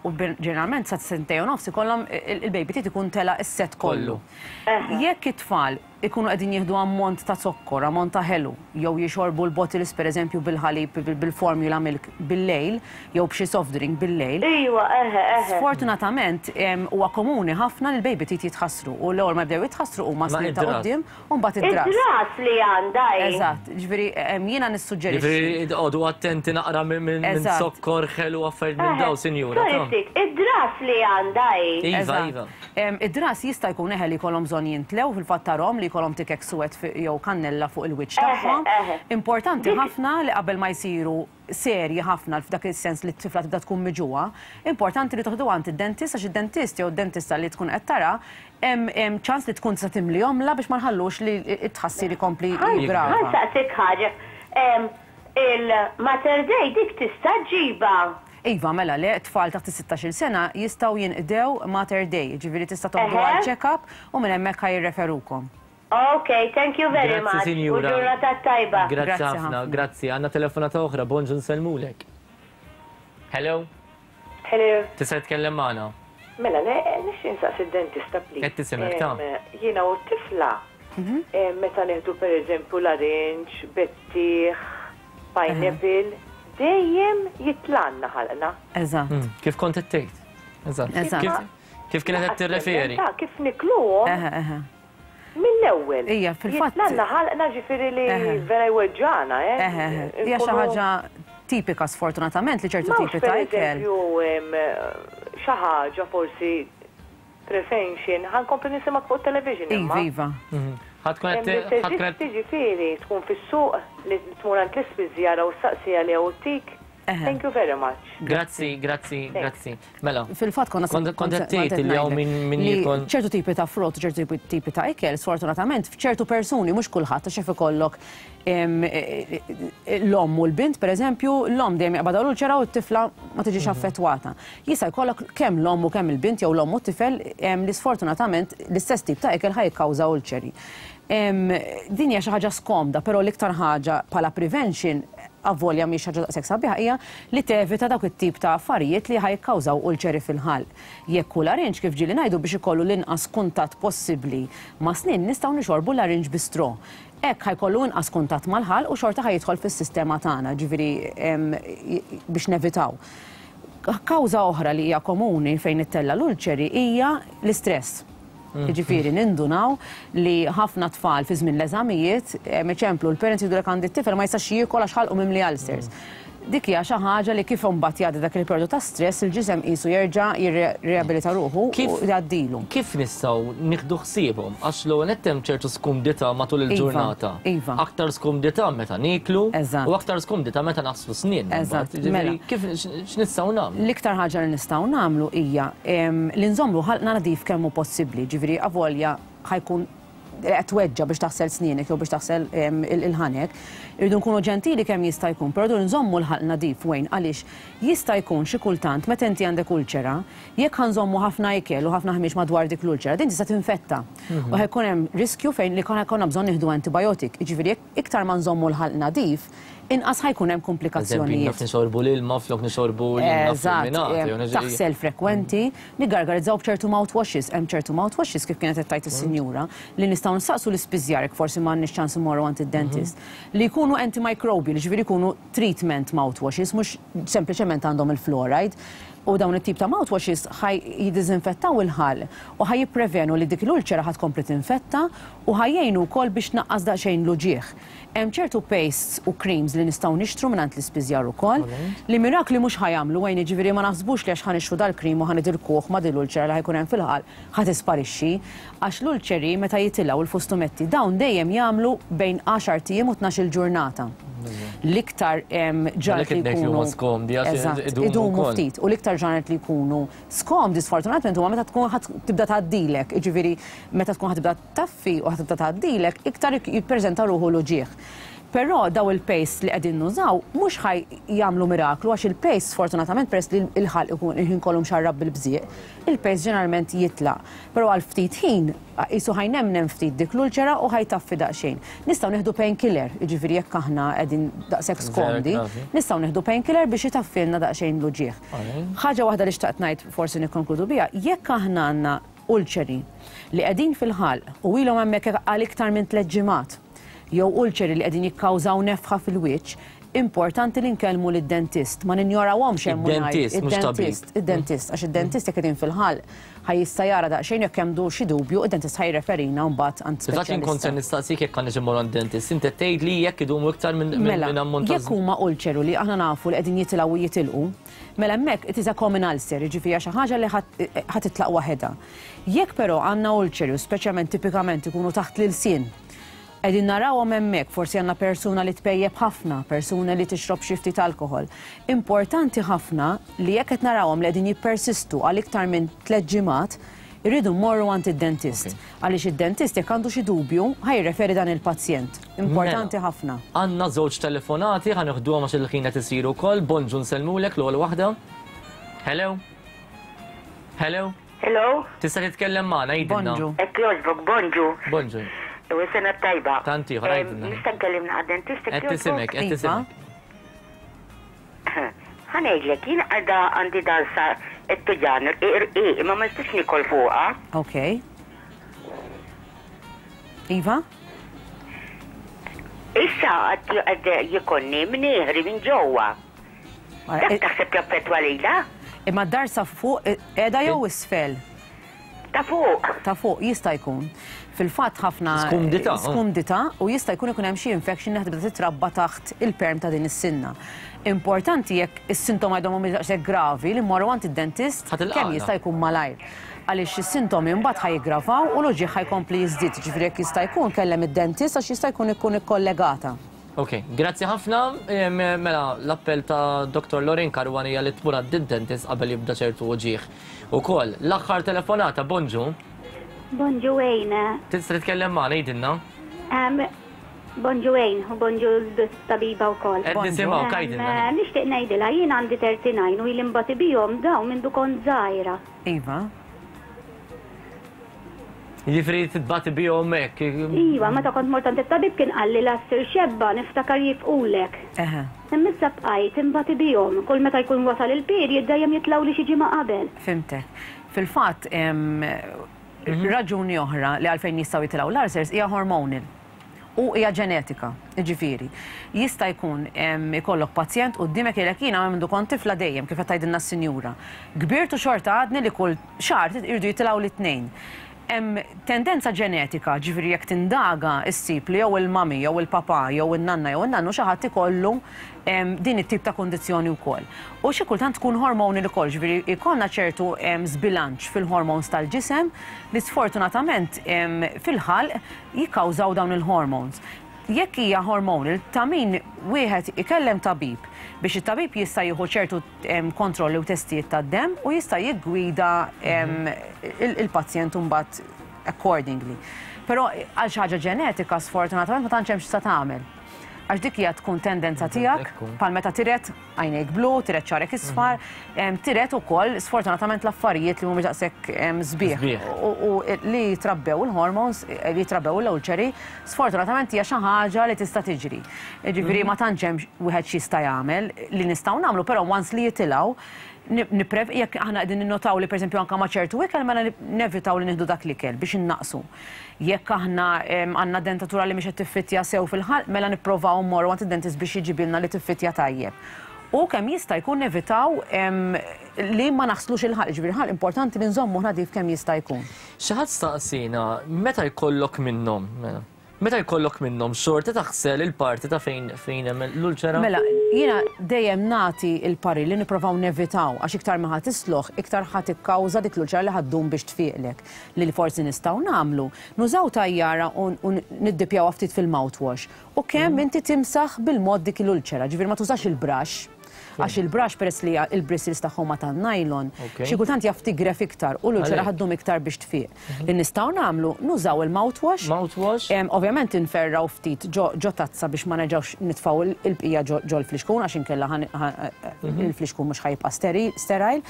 U ġeneralment sa sentejn u nofs ikollhom il-baby teeth ikun tela' s-sett kollu. Jekk it-tfal ikunu qegħdin jieħdu ammont ta' zokkor, ammont ta' ħelu, jew jixorbu l-bottles pereżempju bil-ħalib, bil-formula milk bil-lejl, jew b'xi soft drink bil-lejl. Iwa, eħe, eħe. Sfortunatament huwa komuni ħafna li l-baby teeth jitħassru u l-ewwel ma jibdew jitħassru huma s-snien ta' quddiem U mbagħad id-dras. Id-dras li għandha hi. Eżatt, ġifieri jiena nissuġġerixxi. Ġifieri qogħdu attenti naqra minn zokkor, ħelu, affarijiet minn dawn, sinjura. Sorry ftit, id-dras li għandha hi. Iva, iva. Id-dras jista' jkun eħe li jkollhom bżonn jintlew, fil-fatt tarahom li jkollhom tikek suwed jew kannella fuq il-wiċċ tagħhom. Importanti ħafna li qabel ma jsiru serji ħafna f'dak is-sens li t-tifla tibda tkun miġugħa, importanti li toħduha għand id-dentist għax id-dentist jew id-dentista li tkun qed tara hemm ċans li tkun tista' timlihomlha biex ma nħallux li t-tħassir ikompli jiggrava. Ħa nsaqsik ħaġa, il-Mater Dei dik tista' ġġibha? Iva, mela le, tfal taħt is-sittax-il sena jistgħu jinqdew Mater Dei, jiġifieri tista' toħduha għal check-up u minn hemmhekk ħa jirreferukom. Ok, thank you very Grazzi much. U sinjura. ġurnata tajba. Grazzi Grazzi ħafna, ħafna. grazzi. Għandna telefonata oħra, bonġu nsellmulek. Hello, Hello. tista' titkellem magħna? Mela, le, nixtieq insaqsi d-dentista please. Qed tisimgħek, ta. Em, Jiena u t-tifla, em, meta nieħdu pereżempju larinġ, bettieħ, pineapple, dejjem jitlanna ħalqna. Eżatt. Kif kont qed tgħid? Eżatt. Eżatt. Kif, kif kienet qed tirreferi? Ta' kif nikluhom Eħe, eħe. Mill-ewwel. Ija, fil-fatt. Jitlanna ħalqna ġifieri li vera jweġġagħna, eh. Eħe, eħe. Hija xi ħaġa tipika sfortunatament li ċertu tipi ta' ikel. Pereżempju, xi ħaġa forsi prevention, ħa nkompli nisimgħek fuq it-television imma. Iva, iva. Ħa tkun qed ħa tkun qed. Teżisti ġifieri tkun fis-suq li tmur għand l-ispiżjara u ssaqsi għaliha u ttik. Thank you very much. Grazzi, grazzi, grazzi. Mela. Fil-fatt konna Kont qed tgħid li hawn min min jiekol. Ċertu tipi ta' frott, ċertu tipi ta' ikel, sfortunatament f'ċertu persuni mhux kulħadd għax jaf ikollok l-omm u l-bint pereżempju, l-omm dejjem jaqbadha l-ulċera u t-tifla ma tiġix affettwata. Jista' jkollok kemm l-omm u kemm il-bint jew l-omm u t-tifel li sfortunatament l-istess tip ta' ikel ħa jikkawża ulċeri. Din hija xi ħaġa skomda, però l-iktar ħaġa bħala prevention, avolja mhix ħaġa daqshekk sabiħa, hija li tevita dawk it-tip ta' affarijiet li ħa jikkawżaw ulċeri fil-ħalq. Jekk hu larinġ, kif ġieli ngħidu, biex ikollu l-inqas kuntatt possibbli ma' snien, nistgħu nixorbu larinġ bi straw. Hekk ħa jkollu inqas kuntatt mal-ħalq u xorta ħa jidħol fis-sistema tagħna, ġifieri biex nevitaw. Kawża oħra li hija komuni fejn ittella' l-ulċeri hija l-istress. Jiġifieri nindunaw li ħafna tfal fi żmien l-eżamijiet, iċemplu l-parents jgħidulek għandi t-tifel ma jistax jiekol għax ħalqu mimli ulcers. Dik hija xi ħaġa li kif imbagħad jgħaddi dak il-perjodu ta' stress il-ġisem qisu jerġa' jirriabilita ruħu u jgħaddilu. Kif nistgħu nieħdu ħsiebhom? Għax l-ewwel nett hemm ċertu skumdità matul il-ġurnata. Iva. Aktar skumdità meta nieklu u aktar skumdità meta naħslu snienna mbagħad. Jiġifieri kif x'nistgħu nagħmlu? L-iktar ħaġa li nistgħu nagħmlu hija li nżommu ħalqna nadif kemm hu possibbli, jiġifieri avolja ħa jkun qed tweġġa' biex taħsel snienek jew biex taħsel il-ħanek, irridu nkunu ġentili kemm jista' jkun, però rridu nżommu l-ħalq nadif Wayne għaliex jista' jkun xi kultant meta inti għandek ulċera, jekk ħa nżommu ħafna ikel u ħafna ħmieġ madwar dik l-ulċera, din tista' tinfetta u ħa jkun hemm riskju fejn li ħa jkollna bżonn nieħdu antibiotic, jiġifieri jekk iktar ma nżommu l-ħalq nadif, inqas ħa jkun hemm kumplikazzjonijiet. Naf nixorbu l-ilma flok nixorbu l-ilma Eżatt, taħsel frekwenti, niggargarizzaw b'ċertu mouthwashes, hemm ċertu mouthwashes kif kienet qed tgħid is-sinjura li nistgħu nsaqsu l-ispiżjar jekk forsi m'għandniex ċans immorru għand id-dentist, li jkunu antimicrobial, jiġifieri jkunu treatment mouthwashes mhux sempliċement għandhom il-fluoride. U dawn it-tip ta' mouthwashes ħa jiddiżinfettaw il-ħalq u ħa jipprevenu li dik l-ulċera ħa tkompli tinfetta u ħa jgħinu wkoll biex tnaqqas daqsxejn l-uġigħ. Hemm ċertu pastes u creams li nistgħu nixtru mingħand l-ispiżjar ukoll, li mirakli mhux ħa jagħmlu għajn jiġifieri ma naħsbux li għax ħa nixtru dal-cream u ħa nidilkuh ma' din l-ulċera li ħa jkun hemm fil-ħalq ħa tisparixxi. Għax l-ulċeri meta jitilgħu l-fustumetti dawn dejjem jagħmlu bejn għaxart ijiem u tnax-il ġurnata. L-iktar ġranet li jkunu. Eżatt, idumu ftit. U l-iktar ġranet li jkunu skomdi sfortunatament huma meta tkun ħa tibda tgħaddilek, jiġifieri meta tkun ħa tibda taffi u ħa tibda tgħaddilek, iktar jippreżenta ruħu l-uġigħ. Però daw il-paste li qegħdin nużaw mhux ħa jagħmlu miraklu għax il-paste sfortunatament peress li l-ħalq ikun il-ħin kollu mxarrab bil-bżieq, il-paste ġeneralment jitlaq. Però għal ftit ħin qisu ħa jnemnem ftit dik l-ulċera u ħa jtaffi daqsxejn. Nistgħu nieħdu painkiller, jiġifieri jekk aħna qegħdin daqshekk skomdi, nistgħu nieħdu painkiller biex itaffilna daqsxejn l-uġigħ. Ħaġa waħda li xtaqt ngħid forsi nikkonkludu biha, jekk aħna għandna ulċeri li qegħdin fil-ħalq u ilhom hemmhekk għal iktar minn tlett ġimgħat, jew ulċeri li qegħdin jikkawżaw nefħa fil-wiċċ, importanti li nkellmu lid-dentist, ma ninjorawhomx hemm u ngħid. Id-dentist, mhux tabib. Id-dentist, id-dentist, għax id-dentist jekk qegħdin fil-ħalq ħa jista' jara daqsxejn jekk hemm xi dubju, id-dentist ħa jirreferina mbagħad għand Fil-fatt jien kont se speċjalista. nistaqsik jekk għandniex immorru għand dentist. Inti qed tgħidli jekk idumu iktar minn Mela, minn ammont ta' jekk huma ulċeru li aħna nafu li qegħdin jitilgħu u jitilqu, mela hemmhekk it is a common ulcer, jiġifieri hija xi ħaġa li ħa titlaq waħedha. Jekk però għandna ulċeri u speċjalment tipikament ikunu taħt l-ilsien, qegħdin narawhom hemmhekk, forsi għandna persuna li tpejjep ħafna, persuna li tixrob xi ftit alkoħol. Importanti ħafna li jekk qed narawhom li qegħdin jippersistu għal iktar minn tlett ġimgħat, irridu mmorru għand id-dentist. Għaliex id-dentist jekk għandu xi dubju, ħa jirreferi dan il-pazjent. Importanti Mela. ħafna. Għandna żewġ telefonati, ħa nieħduhom għax il-ħin qed isiru wkoll. Bonġu nsellmulek l-ewwel waħda. Hello? Hello? Hello? Tista' titkellem magħna, għidilna. Bonġu. Hekk jogħġbok, bonġu. Bonġu. U sena tajba. Tant ieħor, għidilna. Nista' nkellim naqa' dentist hekk Qed tisimgħek, qed Iva. tisimgħek. Ħa ngħidlek, jien għadha għandi darsa t-tuġan irqiq, imma ma nistax nikol fuqha. Ok. Iva? Issa għad jikonni mnieħri minn ġewwa. Dak taħseb jaffettwa lilha? Imma d-darsa fuq qiegħda jew isfel? Ta' fuq. Ta' fuq jista' jkun. Fil-fatt ħafna Skumdità, oh. skumdità u jista' jkun ikun hemm xi infection li ħa tibda titrabba taħt il-perm ta' din is-sinna. Importanti jekk is-sintomi għadhom mhumiex daqshekk gravi li mmorru għand id-dentist Ħa tilqagħna. kemm jista' jkun malajr. Għaliex is-sintomi mbagħad ħa jiggravaw u l-uġigħ ħa jkompli jiżdied, ġifieri jekk jista' jkun kellem id-dentist għax jista' jkun ikun ikkollegata. Ok, grazzi ħafna. Mela, l-appell ta' Dr. Lorin Caruana hija li tmur għand-dentist qabel jibda ċertu uġigħ. Ukoll, l-aħħar telefonata, bonġu. Bonġu Wayne. Tista' titkellem magħna, għidilna. Bonġu Wayne u bonġu l-tabiba wkoll. Qed nisimgħu, għidilna. Nixtieq ngħidilha jien għandi 39 u ili nbati bihom dawn mindu kont żgħira. Iva. Jiġifieri titbati bihom hekk. Iva, meta kont mort għand it-tabib kien qalli la ssir xebba niftakar jifqulek. Eħe. Imma issa bqajt inbati bihom. Kull meta jkun wasal il-period dejjem jitlgħu li xi ġimgħa qabel. Fhimtek. Fil-fatt, raġuni oħra li għalfejn jistgħu jitilgħu l-ulcers hija hormonal. U hija ġenetika, jiġifieri. Jista' jkun ikollok pazjent quddiemek jgħidlek jiena mindu kont tifla dejjem kif qed tgħidilna s-sinjura. Kbirt u xorta għadni li kull xahar iridu jitilgħu l-tnejn. Hemm tendenza ġenetika, ġifieri jekk tindaga issib li jew il-mami, jew il-papà, jew in-nanna, jew in-nannu xi ħadd ikollu din it-tip ta' kundizzjoni wkoll. U xi kultant tkun hormonal ukoll, ġifieri jkollna ċertu żbilanċ fil-hormones tal-ġisem li sfortunatament fil-ħalq jikkawżaw dawn il-hormones. Jekk hija hormonal, ta' min wieħed ikellem tabib biex it-tabib jista' jieħu ċertu kontrolli u testijiet tad-demm u jista' jiggwida il-pazjent imbagħad accordingly. Però għal xi ħaġa ġenetika sfortunatament ma tantx hemm x'tista' tagħmel. Għax dik hija tkun tendenza tiegħek bħal meta tiret għajnejk blu, tiret xagħrek isfar, tiret ukoll sfortunatament l-affarijiet li mhumiex daqshekk sbieħ. U li jitrabbew il-hormones, li jitrabbew l-ulċeri, sfortunatament hija xi ħaġa li tista' tiġri. Jiġifieri ma tantx hemm wieħed x'jista' jagħmel li nistgħu nagħmlu, però once li jitilgħu niprev jekk aħna qegħdin ninnotaw li pereżempju anke ma' ċertu ikel mela nevitaw li nieħdu dak l-ikel biex innaqsu. Jekk aħna għandna dentatura li mhix qed tiffittja sew fil-ħalq, mela nipprovaw mmorru għand id-dentist biex jiġibilna li tiffittja tajjeb. U kemm jista' jkun nevitaw li ma naħslux il-ħalq, ġifieri il-ħalq importanti li nżommu nadif kemm jista' jkun. Xi ħadd staqsina meta jkollok minnhom, mela, meta jkollok minnhom xorta taħsel il-parti ta' fejn fejn hemm l-ulċera? Mela, jiena dejjem nagħti il-parir li nipprovaw nevitaw għax iktar ma ħa tisloħ, iktar ħa tikkawża dik l-ulċera li ħa ddum biex tfiqlek. Li forsi nistgħu nagħmlu, nużaw tajjara u niddipjawha ftit fil-mouthwash. U kemm inti timsaħ bil-mod dik l-ulċera, ġifieri ma tużax il-brush. Għax il-brush peress li il-bristles tagħhom ma tan-nylon, xi kultant jaf tigref iktar u l-ulċera ħa ddum iktar biex tfiq. Li nistgħu nagħmlu nużaw il-mouthwash. Mouthwash. Ovvjament inferraw ftit ġo tazza biex ma nerġgħux nitfgħu l-bqija ġol-flixkun għax inkella il-flixkun mhux ħa jibqa' sterile.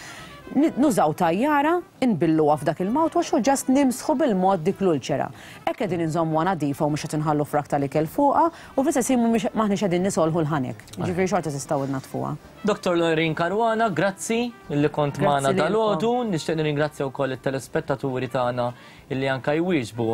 Nużaw tajjara, inbilluha f'dak il-mouthwash u just nimsħu bil-mod dik l-ulċera. Hekk qegħdin inżommuha nadifa u mhux qed inħallu frak tal-ikel fuqha u fl-istess ħin mhumiex m'aħniex qegħdin nisolħu l-ħanek. Jiġifieri xorta tistgħu tnaddfuha. Dottor Lorraine Caruana, grazzi li kont magħna dalgħodu. Nixtieq nirringrazzja wkoll it-telespettaturi tagħna illi anke jwieġbu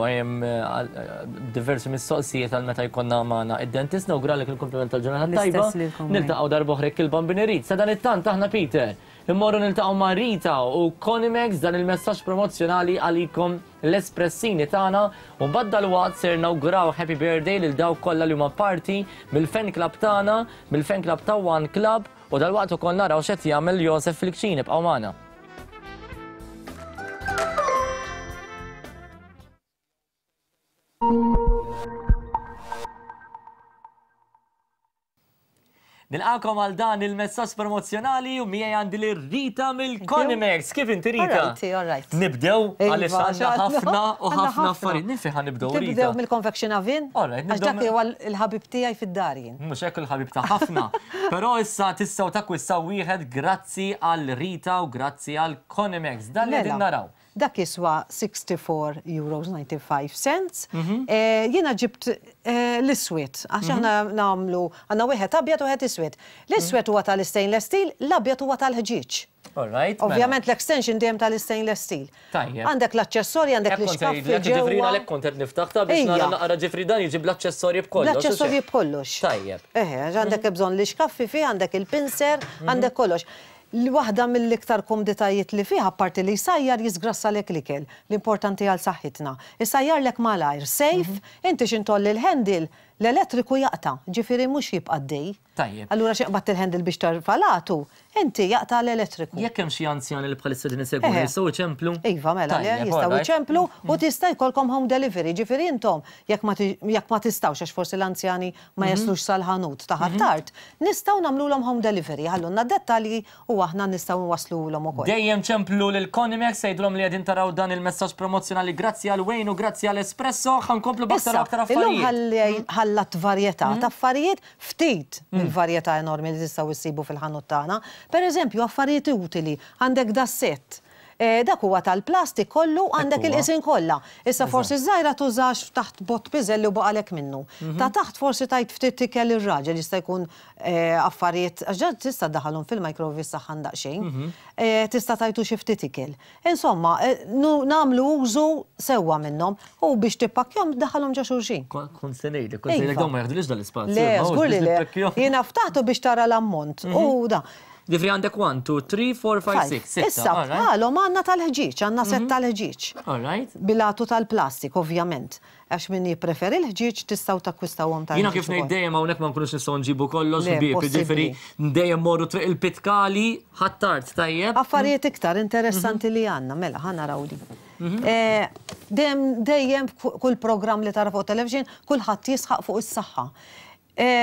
diversi mistoqsijiet għal meta jkollna magħna id-dentist. Nawguralek il-kumpliment tal-ġurnata tajba. Niltaqgħu darb'oħra jekk il-Bambin irid. Sadanittant aħna Peter, immorru niltaqgħu ma' Rita u Conimex dan il-messaġġ promozzjonali għalikom l-espressini tagħna u mbagħad dalwaqt ser nawguraw happy birthday lil dawk kollha li huma parti mill-fan club tagħna, mill-fan club ta' One Club u dalwaqt ukoll naraw x'qed jagħmel Josef fil-kċin ibqgħu magħna. Nilqakom għal dan il-messaġġ promozzjonali u miegħi għandi lil Rita mill-Conimex. Kif inti Rita? Alright, alright. Nibdew Iva, għaliex għandna ħafna u ħafna affarijiet. Minn fejn ħa nibdew Rita? Nibdew mill-confection oven. Alright, Għax dak huwa l-ħabib tiegħi fid-dar jien. Mhux hekk il-ħabib ta' ħafna. Però issa tistgħu takkwistaw wieħed grazzi għal Rita u grazzi għal Conimex. Dan li qegħdin Mela. naraw. Dak jiswa 64 euros 95 cents. Jiena ġibt l-iswed, għax aħna nagħmlu, għandna wieħed abjad u wieħed iswed. L-iswed huwa tal-istainless steel, l-abjad huwa tal-ħġieġ. All right. Mela. Ovvjament l-extension dejjem tal-istainless steel. Tajjeb. Għandek l-aċċessorji, għandek l-ixkaffi ġewwa. Ġifri għalhekk kont qed niftaħ ta' biex nara naqra ġifri dan jiġi bl-aċċessorji b'kollox. Bl-aċċessorji b'kollox. Tajjeb. Eħe, għandek bżonn l-ixkaffi fih, għandek il-pinser, għandek kollox. Li waħda mill-iktar kumditajiet li fih, apparti li jsajjar, jiżgrassalek l-ikel, l-importanti għal saħħitna. Isajjarlek malajr, safe, inti x'in tgħolli l-handle, l-elettriku jaqta', ġifieri mhux jibqa' għaddej. Tajjeb. Allura xi qbadt il-handle biex terfa' l-għatu, inti jaqta' l-elettriku. Jekk hemm xi anzjani li bħalissa qegħdin isegwuna jistgħu jċemplu? Iva, mela le, jistgħu jċemplu u tista' jkollkom home delivery, ġifieri intom jekk ma jekk ma tistgħux għax forsi l-anzjani ma jaslux sal-ħanut ta' Ħ'Attard, nistgħu nagħmlulhom home delivery, ħallulna d-dettalji u aħna nistgħu nwassluhulhom ukoll. Dejjem ċemplu lil Conimex għidulhom li qegħdin taraw dan il-messaġġ promozzjonali grazzi għal Wayne u grazzi għal Espresso, ħa nkomplu b'aktar u aktar Issa, illum affarijiet. ħallatt varjetà ta' affarijiet, ftit mill-varjetà enormi li tistgħu issibu fil-ħanut tagħna. Per eżempju, affarijiet utili, għandek das-sett. Dak huwa tal-plastik kollu għandek il-qisien kollha. Issa forsi ż-żgħira tużax taħt bott piżelli u baqalek minnu. Ta' taħt forsi tgħid ftit ikel ir-raġel jista' jkun affarijiet għax dan tista' ddaħħalhom fil-microwave jissaħħan daqsxejn. Tista' tgħidu xi ftit ikel. Insomma, nagħmlu użu sewwa minnhom u biex tippakkjahom ddaħħalhom ġo xulxin. Kont se ngħidlek, kont se ngħidlek dawn ma jaħdulix dal-ispazju. Le, żgur li le. Jiena ftaħtu biex tara l-ammont u da. Ġifieri għandek 1, 2, 3, 4, 5, 6. Sitta. Issa bħalhom għandna tal-ħġieġ, għandna sett tal-ħġieġ. All right. Bil-għatu tal-plastik, ovvjament. Għax min jippreferi l-ħġieġ tistgħu takkwistawhom tal-ħġieġ. Jiena kif ngħid dejjem hawnhekk ma nkunux nistgħu nġibu kollox ħbieb, jiġifieri dejjem morru triq il-Pitkali Ħ'Attard, tajjeb? Affarijiet iktar interessanti li għandna, mela ħa naraw din. Dejjem dejjem kull programm li tara fuq television kulħadd jisħaq fuq is-saħħa.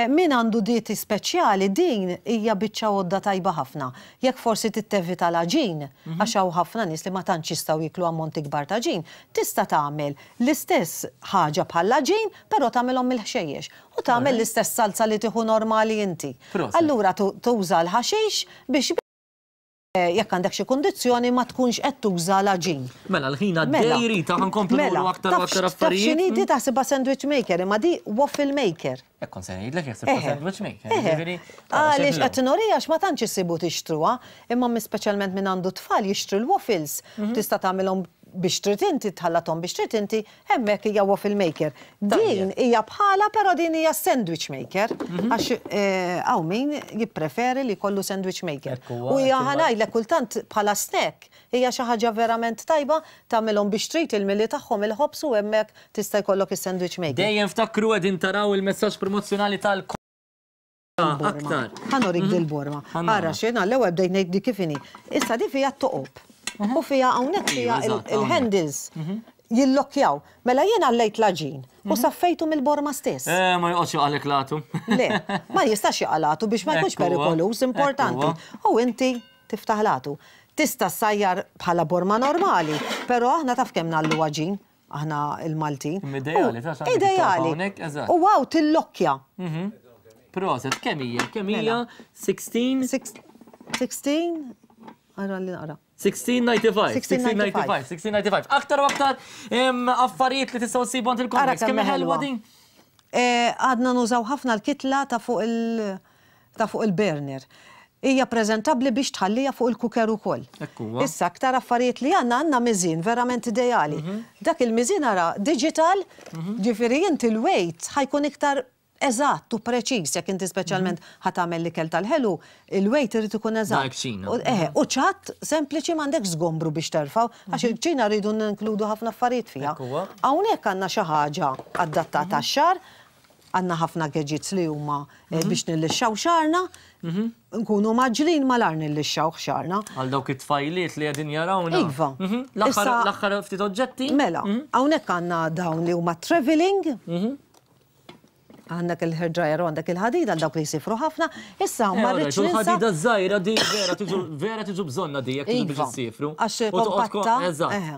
Min għandu dieti speċjali din hija biċċa għodda tajba ħafna. Jekk forsi trid tevita l-għaġin, għax hawn ħafna nies li ma tantx jistgħu jieklu ammonti kbar ta' għaġin, tista' tagħmel l-istess ħaġa bħall-għaġin però tagħmilhom mill-ħxejjex u tagħmel l-istess salza li tieħu normali inti. Allura tuża l-ħaxix biex jekk għandek xi kundizzjoni ma tkunx qed tuża l-għaġin. Mela l-ħin għaddej Rita ħa nkomplu nuru aktar u aktar affarijiet. Taf x'inhi di taħsibha sandwich maker imma di waffle maker. Hekk kont se ngħidlek jekk ħsibtha sandwich maker. Jiġifieri Għaliex qed nuriha għax ma tantx issibu tixtruha, imma speċjalment min għandu t-tfal jixtri l-waffles, tista' tagħmilhom biex trid inti, tħallathom biex trid inti, Hemmhekk hija waffle maker. Din hija bħalha però din hija sandwich maker għax hawn min jippreferi li jkollu sandwich maker. U hija ħa ngħidlek kultant bħala snack hija xi ħaġa verament tajba tagħmilhom biex trid il-mili tagħhom il-ħobż u hemmhekk tista' jkollok is-sandwich maker. Dejjem ftakru qegħdin taraw il-messaġġ promozzjonali tal aktar. Ħa norik dil-borma. Ara x'jien għall-ewwel bdejt ngħid di kif inhi. Issa di fiha t-toqob. U fiha hawnhekk fiha il-handles. Jillokkjaw. Mela jien għallejt l-għaġin u saffejtu mill-borma stess. Eh, ma joqgħodx jaqalek l-għatu. Le, ma jistax jaqa' l-għatu biex ma jkunx Hekk huwa, perikoluż, hekk importanti. huwa. U inti tiftaħ l-għatu. Tista' ssajjar bħala borma normali, però aħna taf kemm ngħallu għaġin, aħna l-Maltin. Imma ideali, ta' x'għandek it-torta Ideali. hawnhekk, eżatt. U hawn tillokkja. Proset, kemm hija? Kemm hija? Mela. 16? 16? Ara li naqra. 1695, 1695, 1695. Aktar u aktar affarijiet li tistgħu ssibu għand il-Convex. Kemm ħelwa din? Eh, għadna nużaw ħafna l-kitla ta' fuq il- ta' fuq il-burner. Hija preżentabbli biex tħallija fuq il-cooker ukoll. Hekk huwa. Issa aktar affarijiet li għandna għandna miżien verament ideali. Dak il-miżien ara digital, ġifieri inti l-weight ħa jkun iktar eżatt u preċiż jekk inti speċjalment ħa tagħmel l-ikel tal-ħelu, il-weight irid ikun eżatt. Dal-kċina. U eħe, u ċatt sempliċi m'għandekx żgombru biex terfgħu, għax il-kċina rridu ninkludu ħafna affarijiet fiha. Hekk huwa. Hawnhekk għandna xi ħaġa adattata għax-xagħar, għandna ħafna gadgets li huma biex nillixxaw xagħarna, nkunu mgħaġġlin malajr nillixxawh xagħarna. Għal dawk it-tfajliet li qegħdin jarawna. Iva. L-aħħar l-aħħar ftit oġġetti. Mela, hawnhekk għandna dawn li huma travelling. Għandek il-hair dryer u għandek il-ħadida għal dawk li jsifru ħafna. Issa ma eh, rridx ninsa. Il-ħadida żgħira di vera tiġu vera tiġu bżonna di jekk tiġu biex Iva, issifru. Għax U toqgħod ko- kompatta. Eżatt. eħe.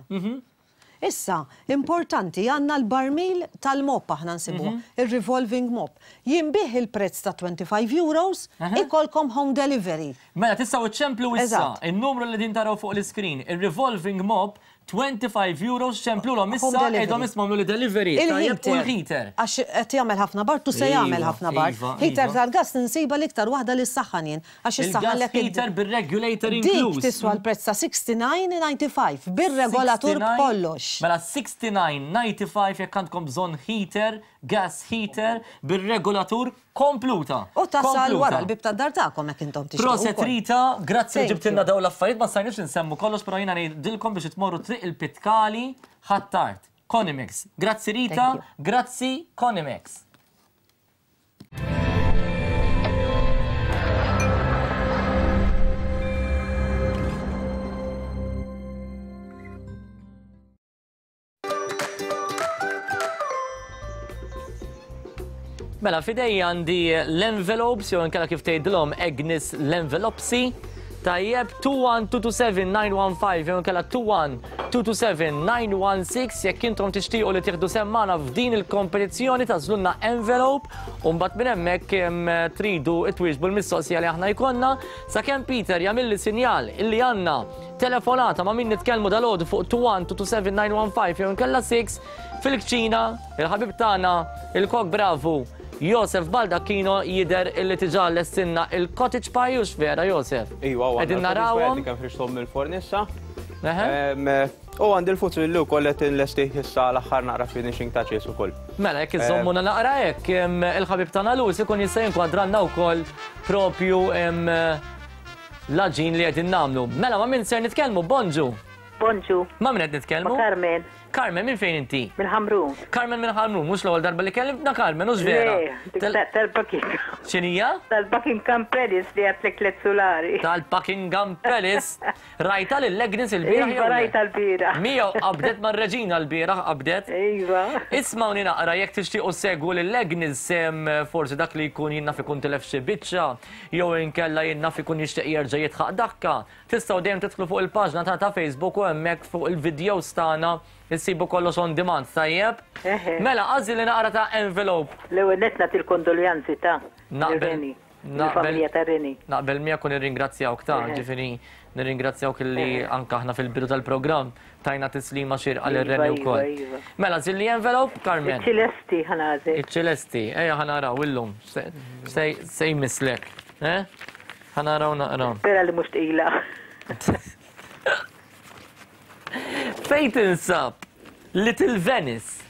Issa, importanti, għandna l-barmil tal-mop aħna nsibu, il-revolving mop. Jinbiegħ il-prezz ta' 25 euros, ikolkom home delivery. Mela tistgħu iċċemplu issa Eżatt. in-numru li din taraw fuq l-iskrin, il-revolving mop 25 euros ċemplulhom issa Home delivery. għidhom isma' li delivery. Tajjeb, u Il-heater. l-heater. Għax qed jagħmel ħafna bard u se jagħmel Iva, ħafna bard. iva, Heater iva. tal-gas ninsiba l-iktar waħda li ssaħħan jien. Għax Il-gas issaħħanlek id- heater bir-regulator Dik inkluż. tiswa l-prezz ta' 69.95 bir-regolatur 69 b'kollox. Mela 69.95 jekk għandkom bżonn heater, gas heater, bir-regolatur kompluta. U tasal Kompluta. wara l-bib tad-dar tagħkom jekk intom tixtiequ. Proset ukoll. Rita, grazzi li Thank ġibtilna you. dawn l-affarijiet, ma stajniex nsemmu kollox, però jiena ngħidilkom biex tmorru triq il-Pitkali Ħ'Attard. Conimex. Grazzi Rita, Thank grazzi Conimex. Mela, f'idejja għandi l-envelopes, jew inkella kif tgħidilhom Agnes l-envelopsi. Tajjeb, 21227-915, jew inkella 21227-916, jekk intom tixtiequ li tieħdu sehem magħna f'din il-kompetizzjoni tażlulna envelope, u mbagħad minn hemmhekk tridu twieġbu l-mistoqsija li aħna jkollna, sakemm Peter jagħmilli sinjal illi għandna telefonata ma' min nitkellmu dalgħodu fuq 21227-915 jew inkella 6 fil-kċina, il-ħabib tagħna, il-kok bravu Josef Baldacchino jidher illi tiġà lestinna il-cottage pie hux vera Josef? Iva, u Qegħdin għandna l-cottage pie narawhom. li kemm ħriġthom mill-forn issa. U għandi l-fuzzilli wkoll qed inlestih issa l-aħħar naqra finishing touches ukoll. Mela jekk iżommuna naqra hekk, il-ħabib tagħna Luz ikun jista' jinkwadranna wkoll propju l-għaġin li qegħdin nagħmlu. Mela ma' min ser nitkellmu? Bonġu. Bonġu. Ma' min qed nitkellmu? Ma' Carmen. Carmen, minn fejn inti? Mill-Ħamrun. Carmen minn Ħamrun, mhux l-ewwel darba li kellimtna Carmen, hux vera? Le, tal-Buckingham. X'inhija? Tal-Buckingham Palace li għadtlek tliet sulari. Tal-Buckingham Palace. Rajta lil Agnes il-bieraħ Iva, rajta l-bieraħ. Miegħu qabdet mar-reġina l-bieraħ qabdet. Iva. Ismawni naqra jekk tixtiequ ssegwu lil Agnes forsi dak li jkun jien naf ikun tilef xi biċċa jew inkella jien naf ikun jixtieq jerġa' jidħaq dakka. Tistgħu dejjem tidħlu fuq il-paġna tagħna ta' Facebook u hemmhekk fuq il-videos tagħna issibu kollox on demand, tajjeb? Mela, għażli li naqra ta' envelope. L-ewwel nett nagħti l-kondoljanzi ta' Naqbel. Reni. Il-familja ta' Reni. Naqbel miegħek u nirringrazzjawk ta' ġifieri nirringrazzjawk li anke aħna fil-bidu tal-programm tajna tislima xierqa lil Iva, Reni iva, wkoll. iva. Mela, żilli envelope, Carmen. Iċ-ċilesti ħa nagħżel. Iċ-ċilesti, ejja ħa naraw illum se jmisslek. Eh? Ħa naraw naqra. Spera li mhux tqila. Fejn tinsab Little Venice?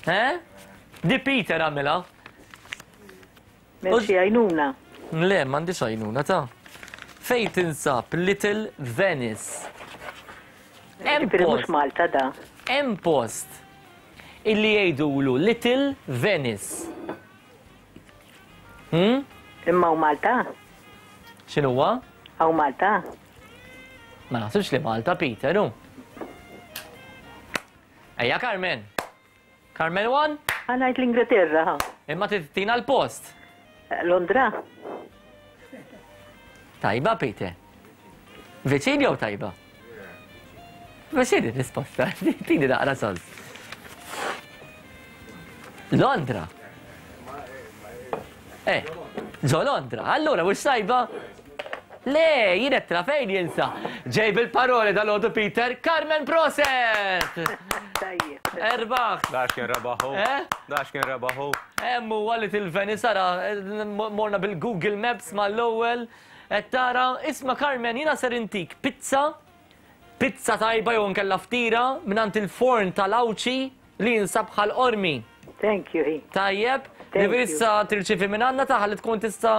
Eh? Di Peter għamilha. M'hemm xi għajnuna. Le, m'għandix għajnuna ta'. Fejn tinsab Little Venice? Hemm Ġifieri mhux post. Malta da. Hemm post illi jgħidulu Little Venice. Hmm? Imma hawn Malta? X'inhuwa? Hawn Malta? Ma naħsibx li Malta, Peter, hu. Ejja Carmen. Carmen 1? Ħa ngħid l-Ingilterra, ħa. Imma trid tina l-post. Londra. Tajba, Peter. Viċin jew tajba? Viċin ir-risposta. Tini naqra sens. Londra. Eh, ġo Londra. Allura, mhux tajba? Le, jien qed tra fejn jinsa. Ġej bil-paroli dal-għodu Peter, Carmen Proset! Tajjeb. Erbaħ. Dax kien rebaħu. Eh? Dax kien rebaħu. Hemm huwa li tilveni sara morna bil-Google Maps mal-ewwel qed tara, isma' Carmen jiena ser intik pizza, pizza tajba jew inkella ftira mingħand il-forn tal-Għawdxi li jinsab Ħal Qormi. Thank you, hi. Tajjeb, li issa tirċievi minn għandna taħ li tkun tista'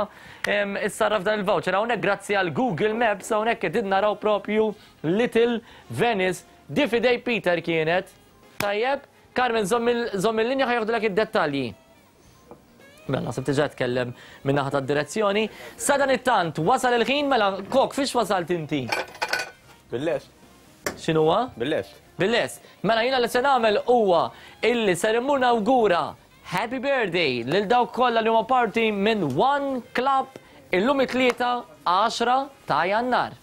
issarraf dan il-voucher. Hawnhekk grazzi għal Google Maps hawnhekk qegħdin naraw propju Little Venice. Di f'idej Peter kienet. Tajjeb, Carmen żomm il-linja ħa joħdulek id-dettalji. Mela naħseb diġà tkellem minn naħa tad-direzzjoni. Sadanittant wasal il-ħin mela Kok fiex wasalt inti? Bil-lest. X'inhuwa? Bil-lest. Bil-lest. Mela jiena li se nagħmel huwa illi ser immur nawgura Happy Birthday lil dawk kollha li huma parti minn One Club illum it-Tlieta 10 ta' Jannar.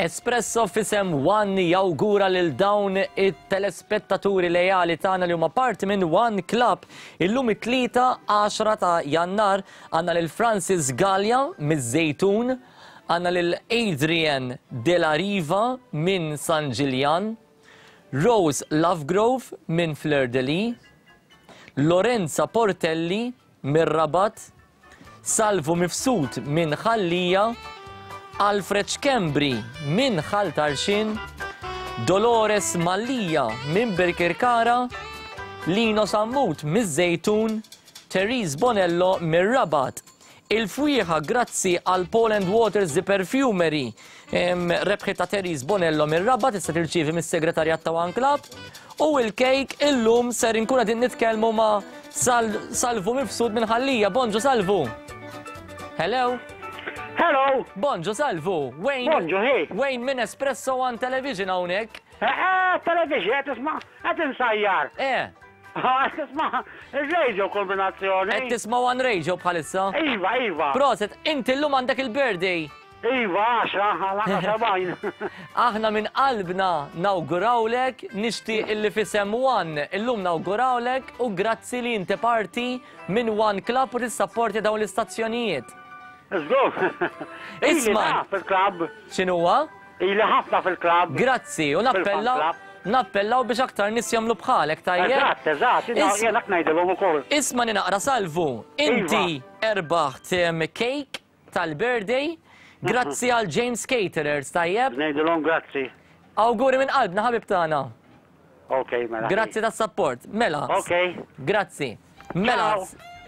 Espresso f'isem One jawgura lil dawn it-telespettaturi lejali tagħna li huma parti minn One Club. Illum it-Tlieta 10 ta' Jannar għandna lil Francis Galea miż-Żejtun, għandna lil Adrian De La Riva minn San Ġiljan, Rose Lovegrove minn Fleur de Lys, Lorenza Portelli mir-Rabat, Salvu Mifsud minn Ħal Lija, Alfred Schembri minn Ħal Tarxien, Dolores Mallia minn Birkirkara, Lino Sammut miż-Żejtun, Therese Bonello mir-Rabat. Il-fwieħa grazzi għal Paul and Waters The Perfumery rebħet ta' Therese Bonello mir-Rabat tista' tirċievi mis-segretarjat ta' One Club. U il-kejk illum ser inkun qegħdin nitkellmu ma' Sal Salvu Mifsud minn Ħal Lija. Bonġu Salvu. Hello. Hello. Bonġu Salvu. Wayne. Bonġu, hey. Wayne minn Espresso One Television hawnhekk. Eh, eh, television, qed tisma' qed insajjar. Eh. Qed tisma' ir-radio kombinazzjoni. Qed tisma' One Radio bħalissa? Iva, iva. Proset, inti llum għandek il-birthday. Iva, għaxra, għal 70. Aħna minn qalbna nawgurawlek, nixtieq illi f'isem One illum nawgurawlek u grazzi li inti parti minn One Club u tissapporti dawn l-istazzjonijiet. Żgur. Isma'. fil-klabb. X'inhuwa? Ili ħafna fil-klabb. Grazzi, u nappellaw nappellaw biex aktar nies jagħmlu bħalek, tajjeb? Eżatt, eżatt, jiena hekk ngħidilhom ukoll. Isma' naqra Salvu, inti Iva. erbaħt cake tal-birthday, grazzi għal James Caterers, tajjeb? Ngħidilhom grazzi. Awguri minn qalbna ħabib tagħna. Ok, mela. Grazzi tas-support. Mela. Ok. Grazzi. Mela,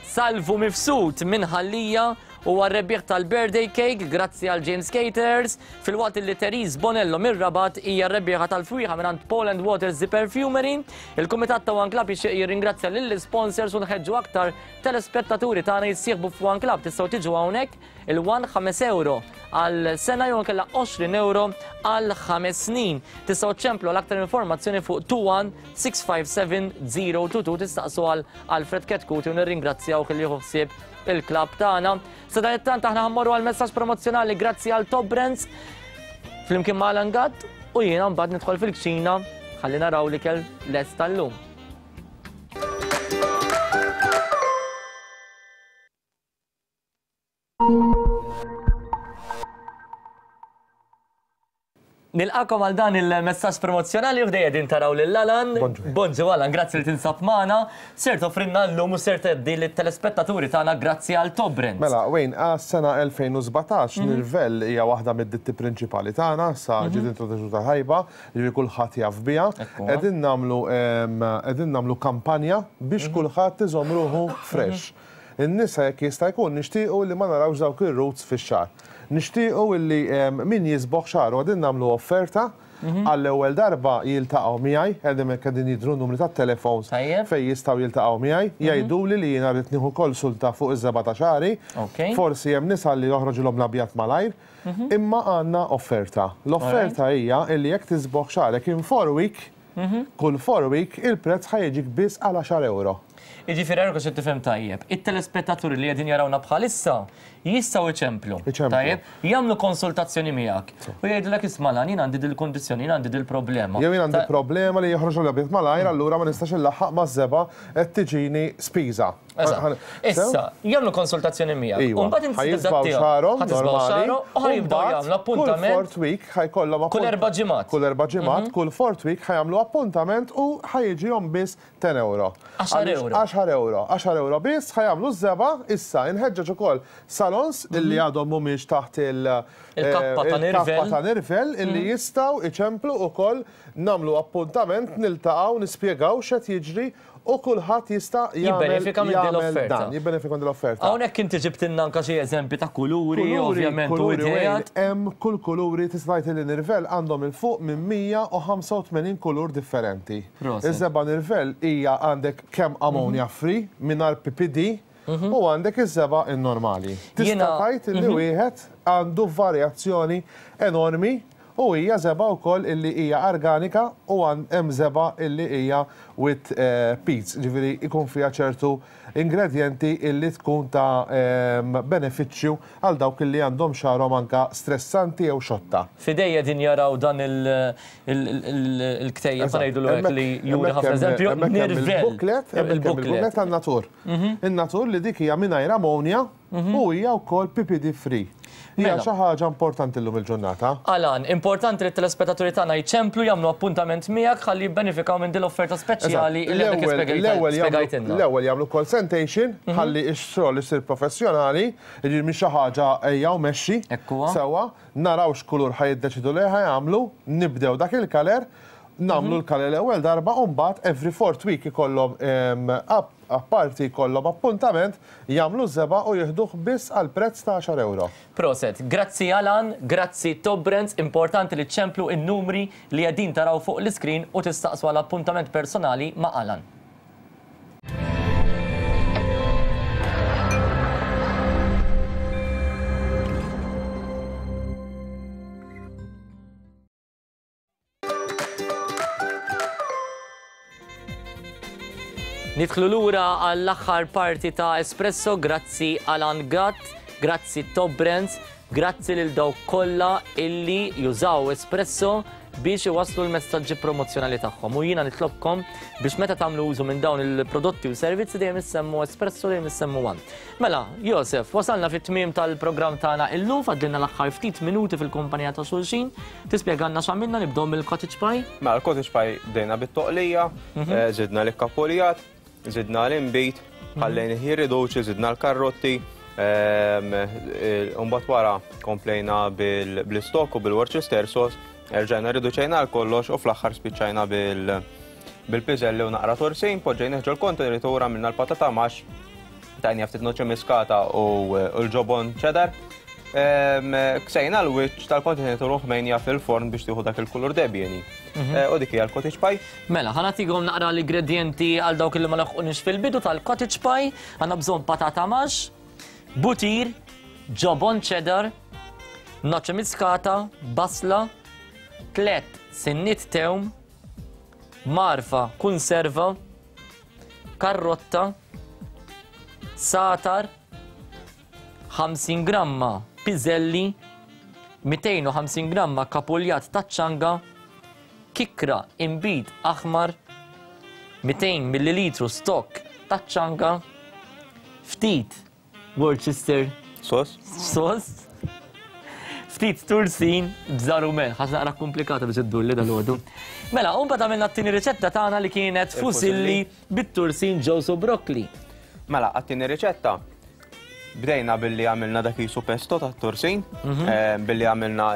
Salvu Mifsud minn Ħal Lija huwa r-rebbieħ tal-birthday cake grazzi għal James Caterers, filwaqt li Therese Bonello mir-Rabat hija r-rebbieħa tal-fwieħa mingħand Paul and Waters The Perfumery. Il-Kumitat ta' One Club jixtieq jirringrazzja lill-isponsors u nħeġġu aktar telespettaturi tagħna jissieħbu f'One Club. Tistgħu tiġu hawnhekk il-One 5 ewro għal sena jew inkella 20 ewro għal 5 snin. Tistgħu ċċemplu għal aktar informazzjoni fuq 21 657 022 tistaqsu għal Alfred Ketkuti u nirringrazzjawh li jieħu ħsieb il-klabb tagħna. Sadanittant aħna ħammorru għal messaġġ promozzjonali grazzi għal Top Brands flimkien ma' Alan Gatt u jiena mbagħad nidħol fil-kċina ħalli naraw l-ikel lest tal-lum. Nilqakom għal dan il-messaġġ promozzjonali u ħdejja din taraw lil Alan. Bonġu Alan, grazzi li tinsab magħna. Ser toffrilna llum u ser tgħaddi lit-telespettaturi tagħna grazzi għal Top Brands. Mela, Wayne, għas-sena 2017 Nirvell hija waħda mid-ditti prinċipali tagħna, sa ġiet introduċuta ħajba, jiġifieri kulħadd jaf biha. Qegħdin nagħmlu qegħdin nagħmlu kampanja biex kulħadd iżomm ruħu fresh. In-nisa jekk jista' jkun nixtiequ li ma narawx dawk ir-roots fix-xagħar. Nixtiequ illi min jiżbogħ xagħru qegħdin nagħmlu offerta għall-ewwel darba jiltaqgħu miegħi, qegħdin hekk qegħdin jidhru n-numri tat-telefons fejn jistgħu jiltaqgħu miegħi, jgħiduli li jiena rrid nieħu konsulta fuq iż-żebgħa ta' xagħri. Forsi hemm nisa li joħroġilhom l-abjad malajr, imma għandna offerta. L-offerta hija illi jekk tiżbogħ xagħrek in 4 week, Kull 4 week il-prezz ħa jiġik biss għal għaxar ewro. Jiġifieri Ergo se tifhem tajjeb, it-telespettaturi li qegħdin jarawna bħalissa jistgħu iċemplu. Tajjeb? Jagħmlu konsultazzjoni miegħek u jgħidulek isma' Lan jien għandi dil-kundizzjoni, jien għandi dil-problema. Jew jien għandi problema li joħroġ l-abjad malajr allura ma nistax inlaħħaq maż-żebgħa qed tiġini spiża. Eżatt. Issa, jagħmlu konsultazzjoni miegħek. Iva. U mbagħad inti Ħa tibda jiżbgħu tiegħu. xagħarhom Ħa tiżbgħu normali. xagħarhom u ħa jibdew mbagħad jagħmlu appuntament. Kull fourth week ħa jkollhom Kull erba' ġimgħat. Kull erba' ġimgħat, kull fourth week ħa jagħmlu appuntament u ħa jiġihom biss 10 ewro. Għaxar Għaliex ewro. Għaxar ewro. Għaxar ewro biss ħa jagħmlu ż-żebgħa. Issa, inħeġġeġ ukoll salons illi għadhom mhumiex taħt il- Il-kappa ta' il-kappa Nirvel. ta' Nirvel illi jistgħu iċemplu ukoll nagħmlu appuntament, niltaqgħu, nispjegaw x'qed jiġri u kulħadd jista' jagħmel Jibbenefika minn din jagħmel l-offerta. dan, jibbenefika minn din l-offerta. Hawnhekk inti ġibtilna anke xi eżempji ta' kuluri, Kuluri, ovvjament, u kuluri, ideat. Wayne, hemm kull kuluri tista' tgħid li Nirvel għandhom 'il fuq minn 185 kulur differenti. Proset. Iż-żebgħa Nirvel hija għandek kemm ammonia free mingħajr PPD u għandek iż-żebgħa n-normali. Tista' Jiena- tgħid li wieħed għandu varjazzjoni enormi u hija żebgħa wkoll illi hija organika u hemm żebgħa illi hija with peats, ġifieri jkun fiha ċertu ingredjenti illi tkun ta' benefiċċju għal dawk illi għandhom xagħarhom anke stressanti jew xotta. F'idejja qegħdin jaraw dan il-ktejjeb, ħa ngħidulu hekk, li juri ħafna eżempju, Nirvel. Nirvel. Il-booklet, il-booklet tan-natur. In-natur li dik hija mingħajr ammonia u hija wkoll PPD free. Hija Mela. xi ħaġa importanti llum il-ġurnata. Alan, importanti li t-telespettaturi tagħna jċemplu jagħmlu appuntament miegħek ħalli jibbenefikaw minn din l-offerta speċjali li għadek L-ewwel spjegajtilna. l-ewwel jagħmlu consultation ħalli x-xogħol isir professjonali, jiġifieri mhix xi ħaġa ejja u mexxi. Sewwa, naraw x'kulur ħa jiddeċidu li ħa jagħmlu, nibdew dak il-kaler, nagħmlu l-kaler l-ewwel darba u mbagħad every fourth week ikollhom apparti jkollhom appuntament, jagħmlu ż-żebgħa u jieħduh biss għal prezz ta' għaxar ewro. Proset. Grazzi Alan, grazzi Top Brands, importanti li ċċemplu n-numri li qegħdin taraw fuq l-iskrin u tistaqsu għal appuntament personali ma' Alan. Nidħlu lura għall-aħħar parti ta' Espresso, grazzi Alan Gatt, grazzi Top Brands, grazzi lil dawk kollha illi jużaw Espresso biex iwasslu l-messaġġi promozzjonali tagħhom. U jiena nitlobkom biex meta tagħmlu użu minn dawn il-prodotti u servizzi dejjem issemmu Espresso dejjem issemmu One. Mela, Josef, wasalna fit-tmiem tal-programm tagħna illum, fadlilna l-aħħar ftit minuti fil-kumpanija ta' xulxin. Tispjegalna x'għamilna nibdew mill-cottage pie? Mela, l-cottage pie bdejna bit-toqlija, żidna l-ikkapuljat, żidna l-inbid, ħallejnih jirriduċi, żidna l-karrotti, u mbagħad wara komplejna bl-istokk u bil-Worcester sauce, erġajna riduċejna għal kollox u fl-aħħar spiċċajna bil-piżelli u naqra torsin, poġġejnih ġol-kontenitur, għamilna l-patata max, tajnija ftit noċi miskata u l-ġobon cheddar. Ksejna l-wiċċ tal-kontenitur u ħmejnija fil-forn biex tieħu dak il-kulur debjeni. U dik hija l-cottage pie. Mela, ħa nagħtikom naqra l-ingredienti għal dawk li ma laħqunix fil-bidu tal-cottage pie. Għandna bżonn patata max, butir, ġobon cheddar, noċe miskata, basla, 3 sinnit tewm, marfa konserva, karrotta, satar, 50 gramma piżelli, 250 gramma kapuljat taċ-ċanga, kikra inbid aħmar, 200 millilitru stock taċ-ċanga, ftit Worcester sauce, sauce, ftit tursin bżar u melħ, ħaġa naqra komplikata biex iddur li dal-għodu. Mela, u mbagħad għamilna t-tieni riċetta tagħna li kienet fusilli bit-tursin ġewż u brokkli. Mela, għat-tieni riċetta bdejna billi għamilna dak jisu pesto tat-tursin, billi għamilna,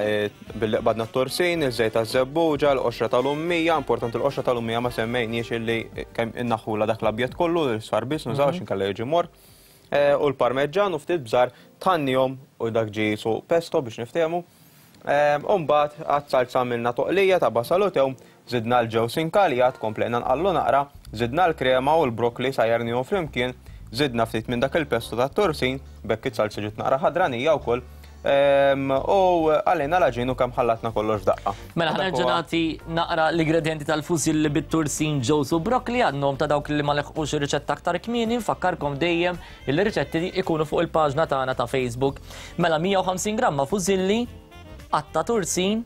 billi qbadna t-tursin, iż-żejt taż-żebbuġa, l-qoxra tal-ummija, importanti l-qoxra tal-ummija ma semmejniex illi kemm innaħħula dak l-abjad kollu, l-isfar biss nużaw x'inkella jiġi mor. u l-parmeġġan u ftit bżar tħannihom u dak ġie qisu pesto biex niftehmu. U mbagħad għas-salza għamilna toqlija ta' basal u tewm, żidna l-ġewż inkaljat, komplejna nqallu naqra, żidna l-krema u l-brokkli sajjarnihom flimkien, żidna ftit minn dak il-pesto tat-tursin, b'hekk it-salza ġiet naqra ħadranija wkoll, u qalejna l-għaġin u kemm ħallatna kollox f'daqqa. Mela ħa nerġa' nagħti naqra l-ingredjenti tal-fusilli bit-tursin, ġewż u brokkli għan-nom ta' dawk li ma leħqux ir-riċetta aktar kmieni, nfakkarkom dejjem Il-riċetti ikunu fuq il-paġna tagħna ta' Facebook. Mela 150 gramma fużilli, qatta tursin,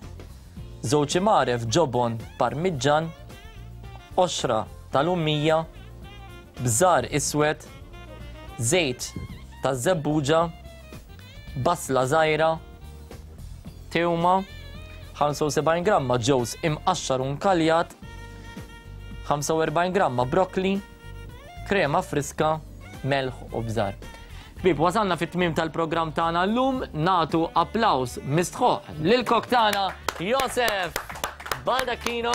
żewġ imgħaref ġobon parmiġġan, qoxra tal-ummija, bżar iswed, żejt taż-żebbuġa, basla żgħira, tewma, 75 gramma ġewż imqaxxar u nkaljat, 45 gramma brokkli, krema friska, melħ u bżar. Ħbieb, wasalna fit-tmiem tal-programm tagħna llum, nagħtu applaws mistħoq lil-kok tagħna Josef Baldacchino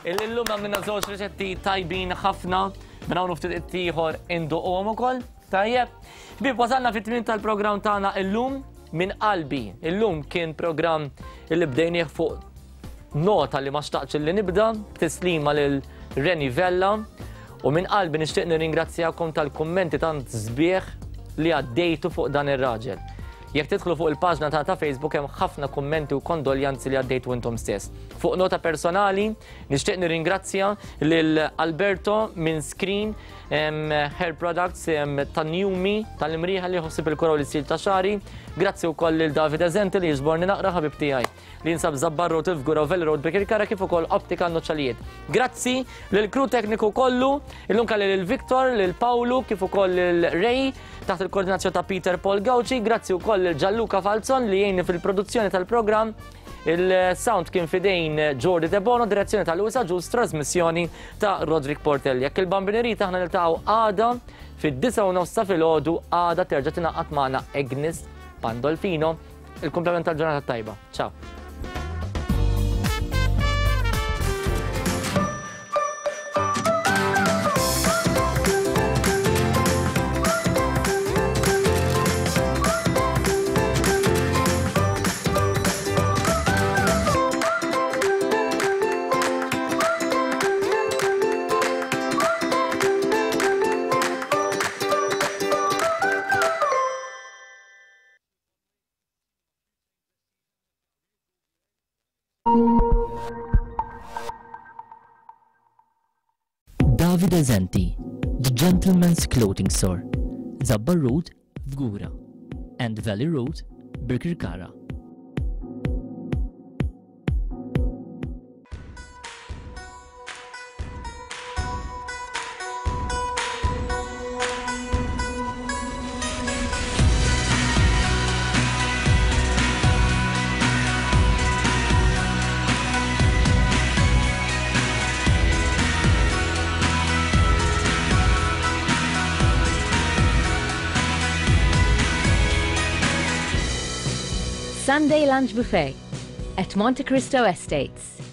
illi llum għamilna żewġ riċetti tajbin ħafna minn hawn ftit ieħor induquhom ukoll. Tajjeb. Ħbieb, wasalna fit-tmiem tal-programm tagħna llum minn qalbi. Illum kien programm illi bdejnieh fuq Nota li ma xtaqtx li nibda b'tislima lil Reni Vella u minn qalbi nixtieq nirringrazzjakom tal-kummenti tant sbieħ li għaddejtu fuq dan ir-raġel. Jekk tidħlu fuq il-paġna ta' ta' Facebook hemm ħafna kummenti u kondoljanzi li għaddejtu intom stess. Fuq nota personali, nixtieq nirringrazzja lil Alberto minn Screen Hair Products ta' Newmi tal-Imrieħa li jħossib il-kura u l-istil ta' xari. Grazzi wkoll lil David Eżenti li jiġborni naqra ħabib tiegħi. li jinsab Zabbar Road, il-Fgura u Valley Road Birkirkara kif ukoll Optika Noċċalijiet. Grazzi lil crew tekniku kollu, illum kelli lil Victor, lil Pawlu kif ukoll lil Ray taħt il-koordinazzjoni ta' Peter Paul Gauci, grazzi wkoll lil Gianluca Falzon li jgħinni fil-produzzjoni tal-programm. Il-sound kien fidejn Jordi Debono, direzzjoni ta' Luisa Ġus, trasmissjoni ta' Roderick Portelli. Jekk il-Bambin irid aħna niltaqgħu għada fid-9:30 ta' filgħodu għada terġa' tingħaqad magħna Agnes Pandolfino. Il-kumplament tal-ġurnata tajba. Ciao. Davide Zenti, The Gentleman's Clothing Store, Zabbar Road, Fgura, and Valley Road, Birkirkara. Sunday Lunch Buffet at Monte Cristo Estates.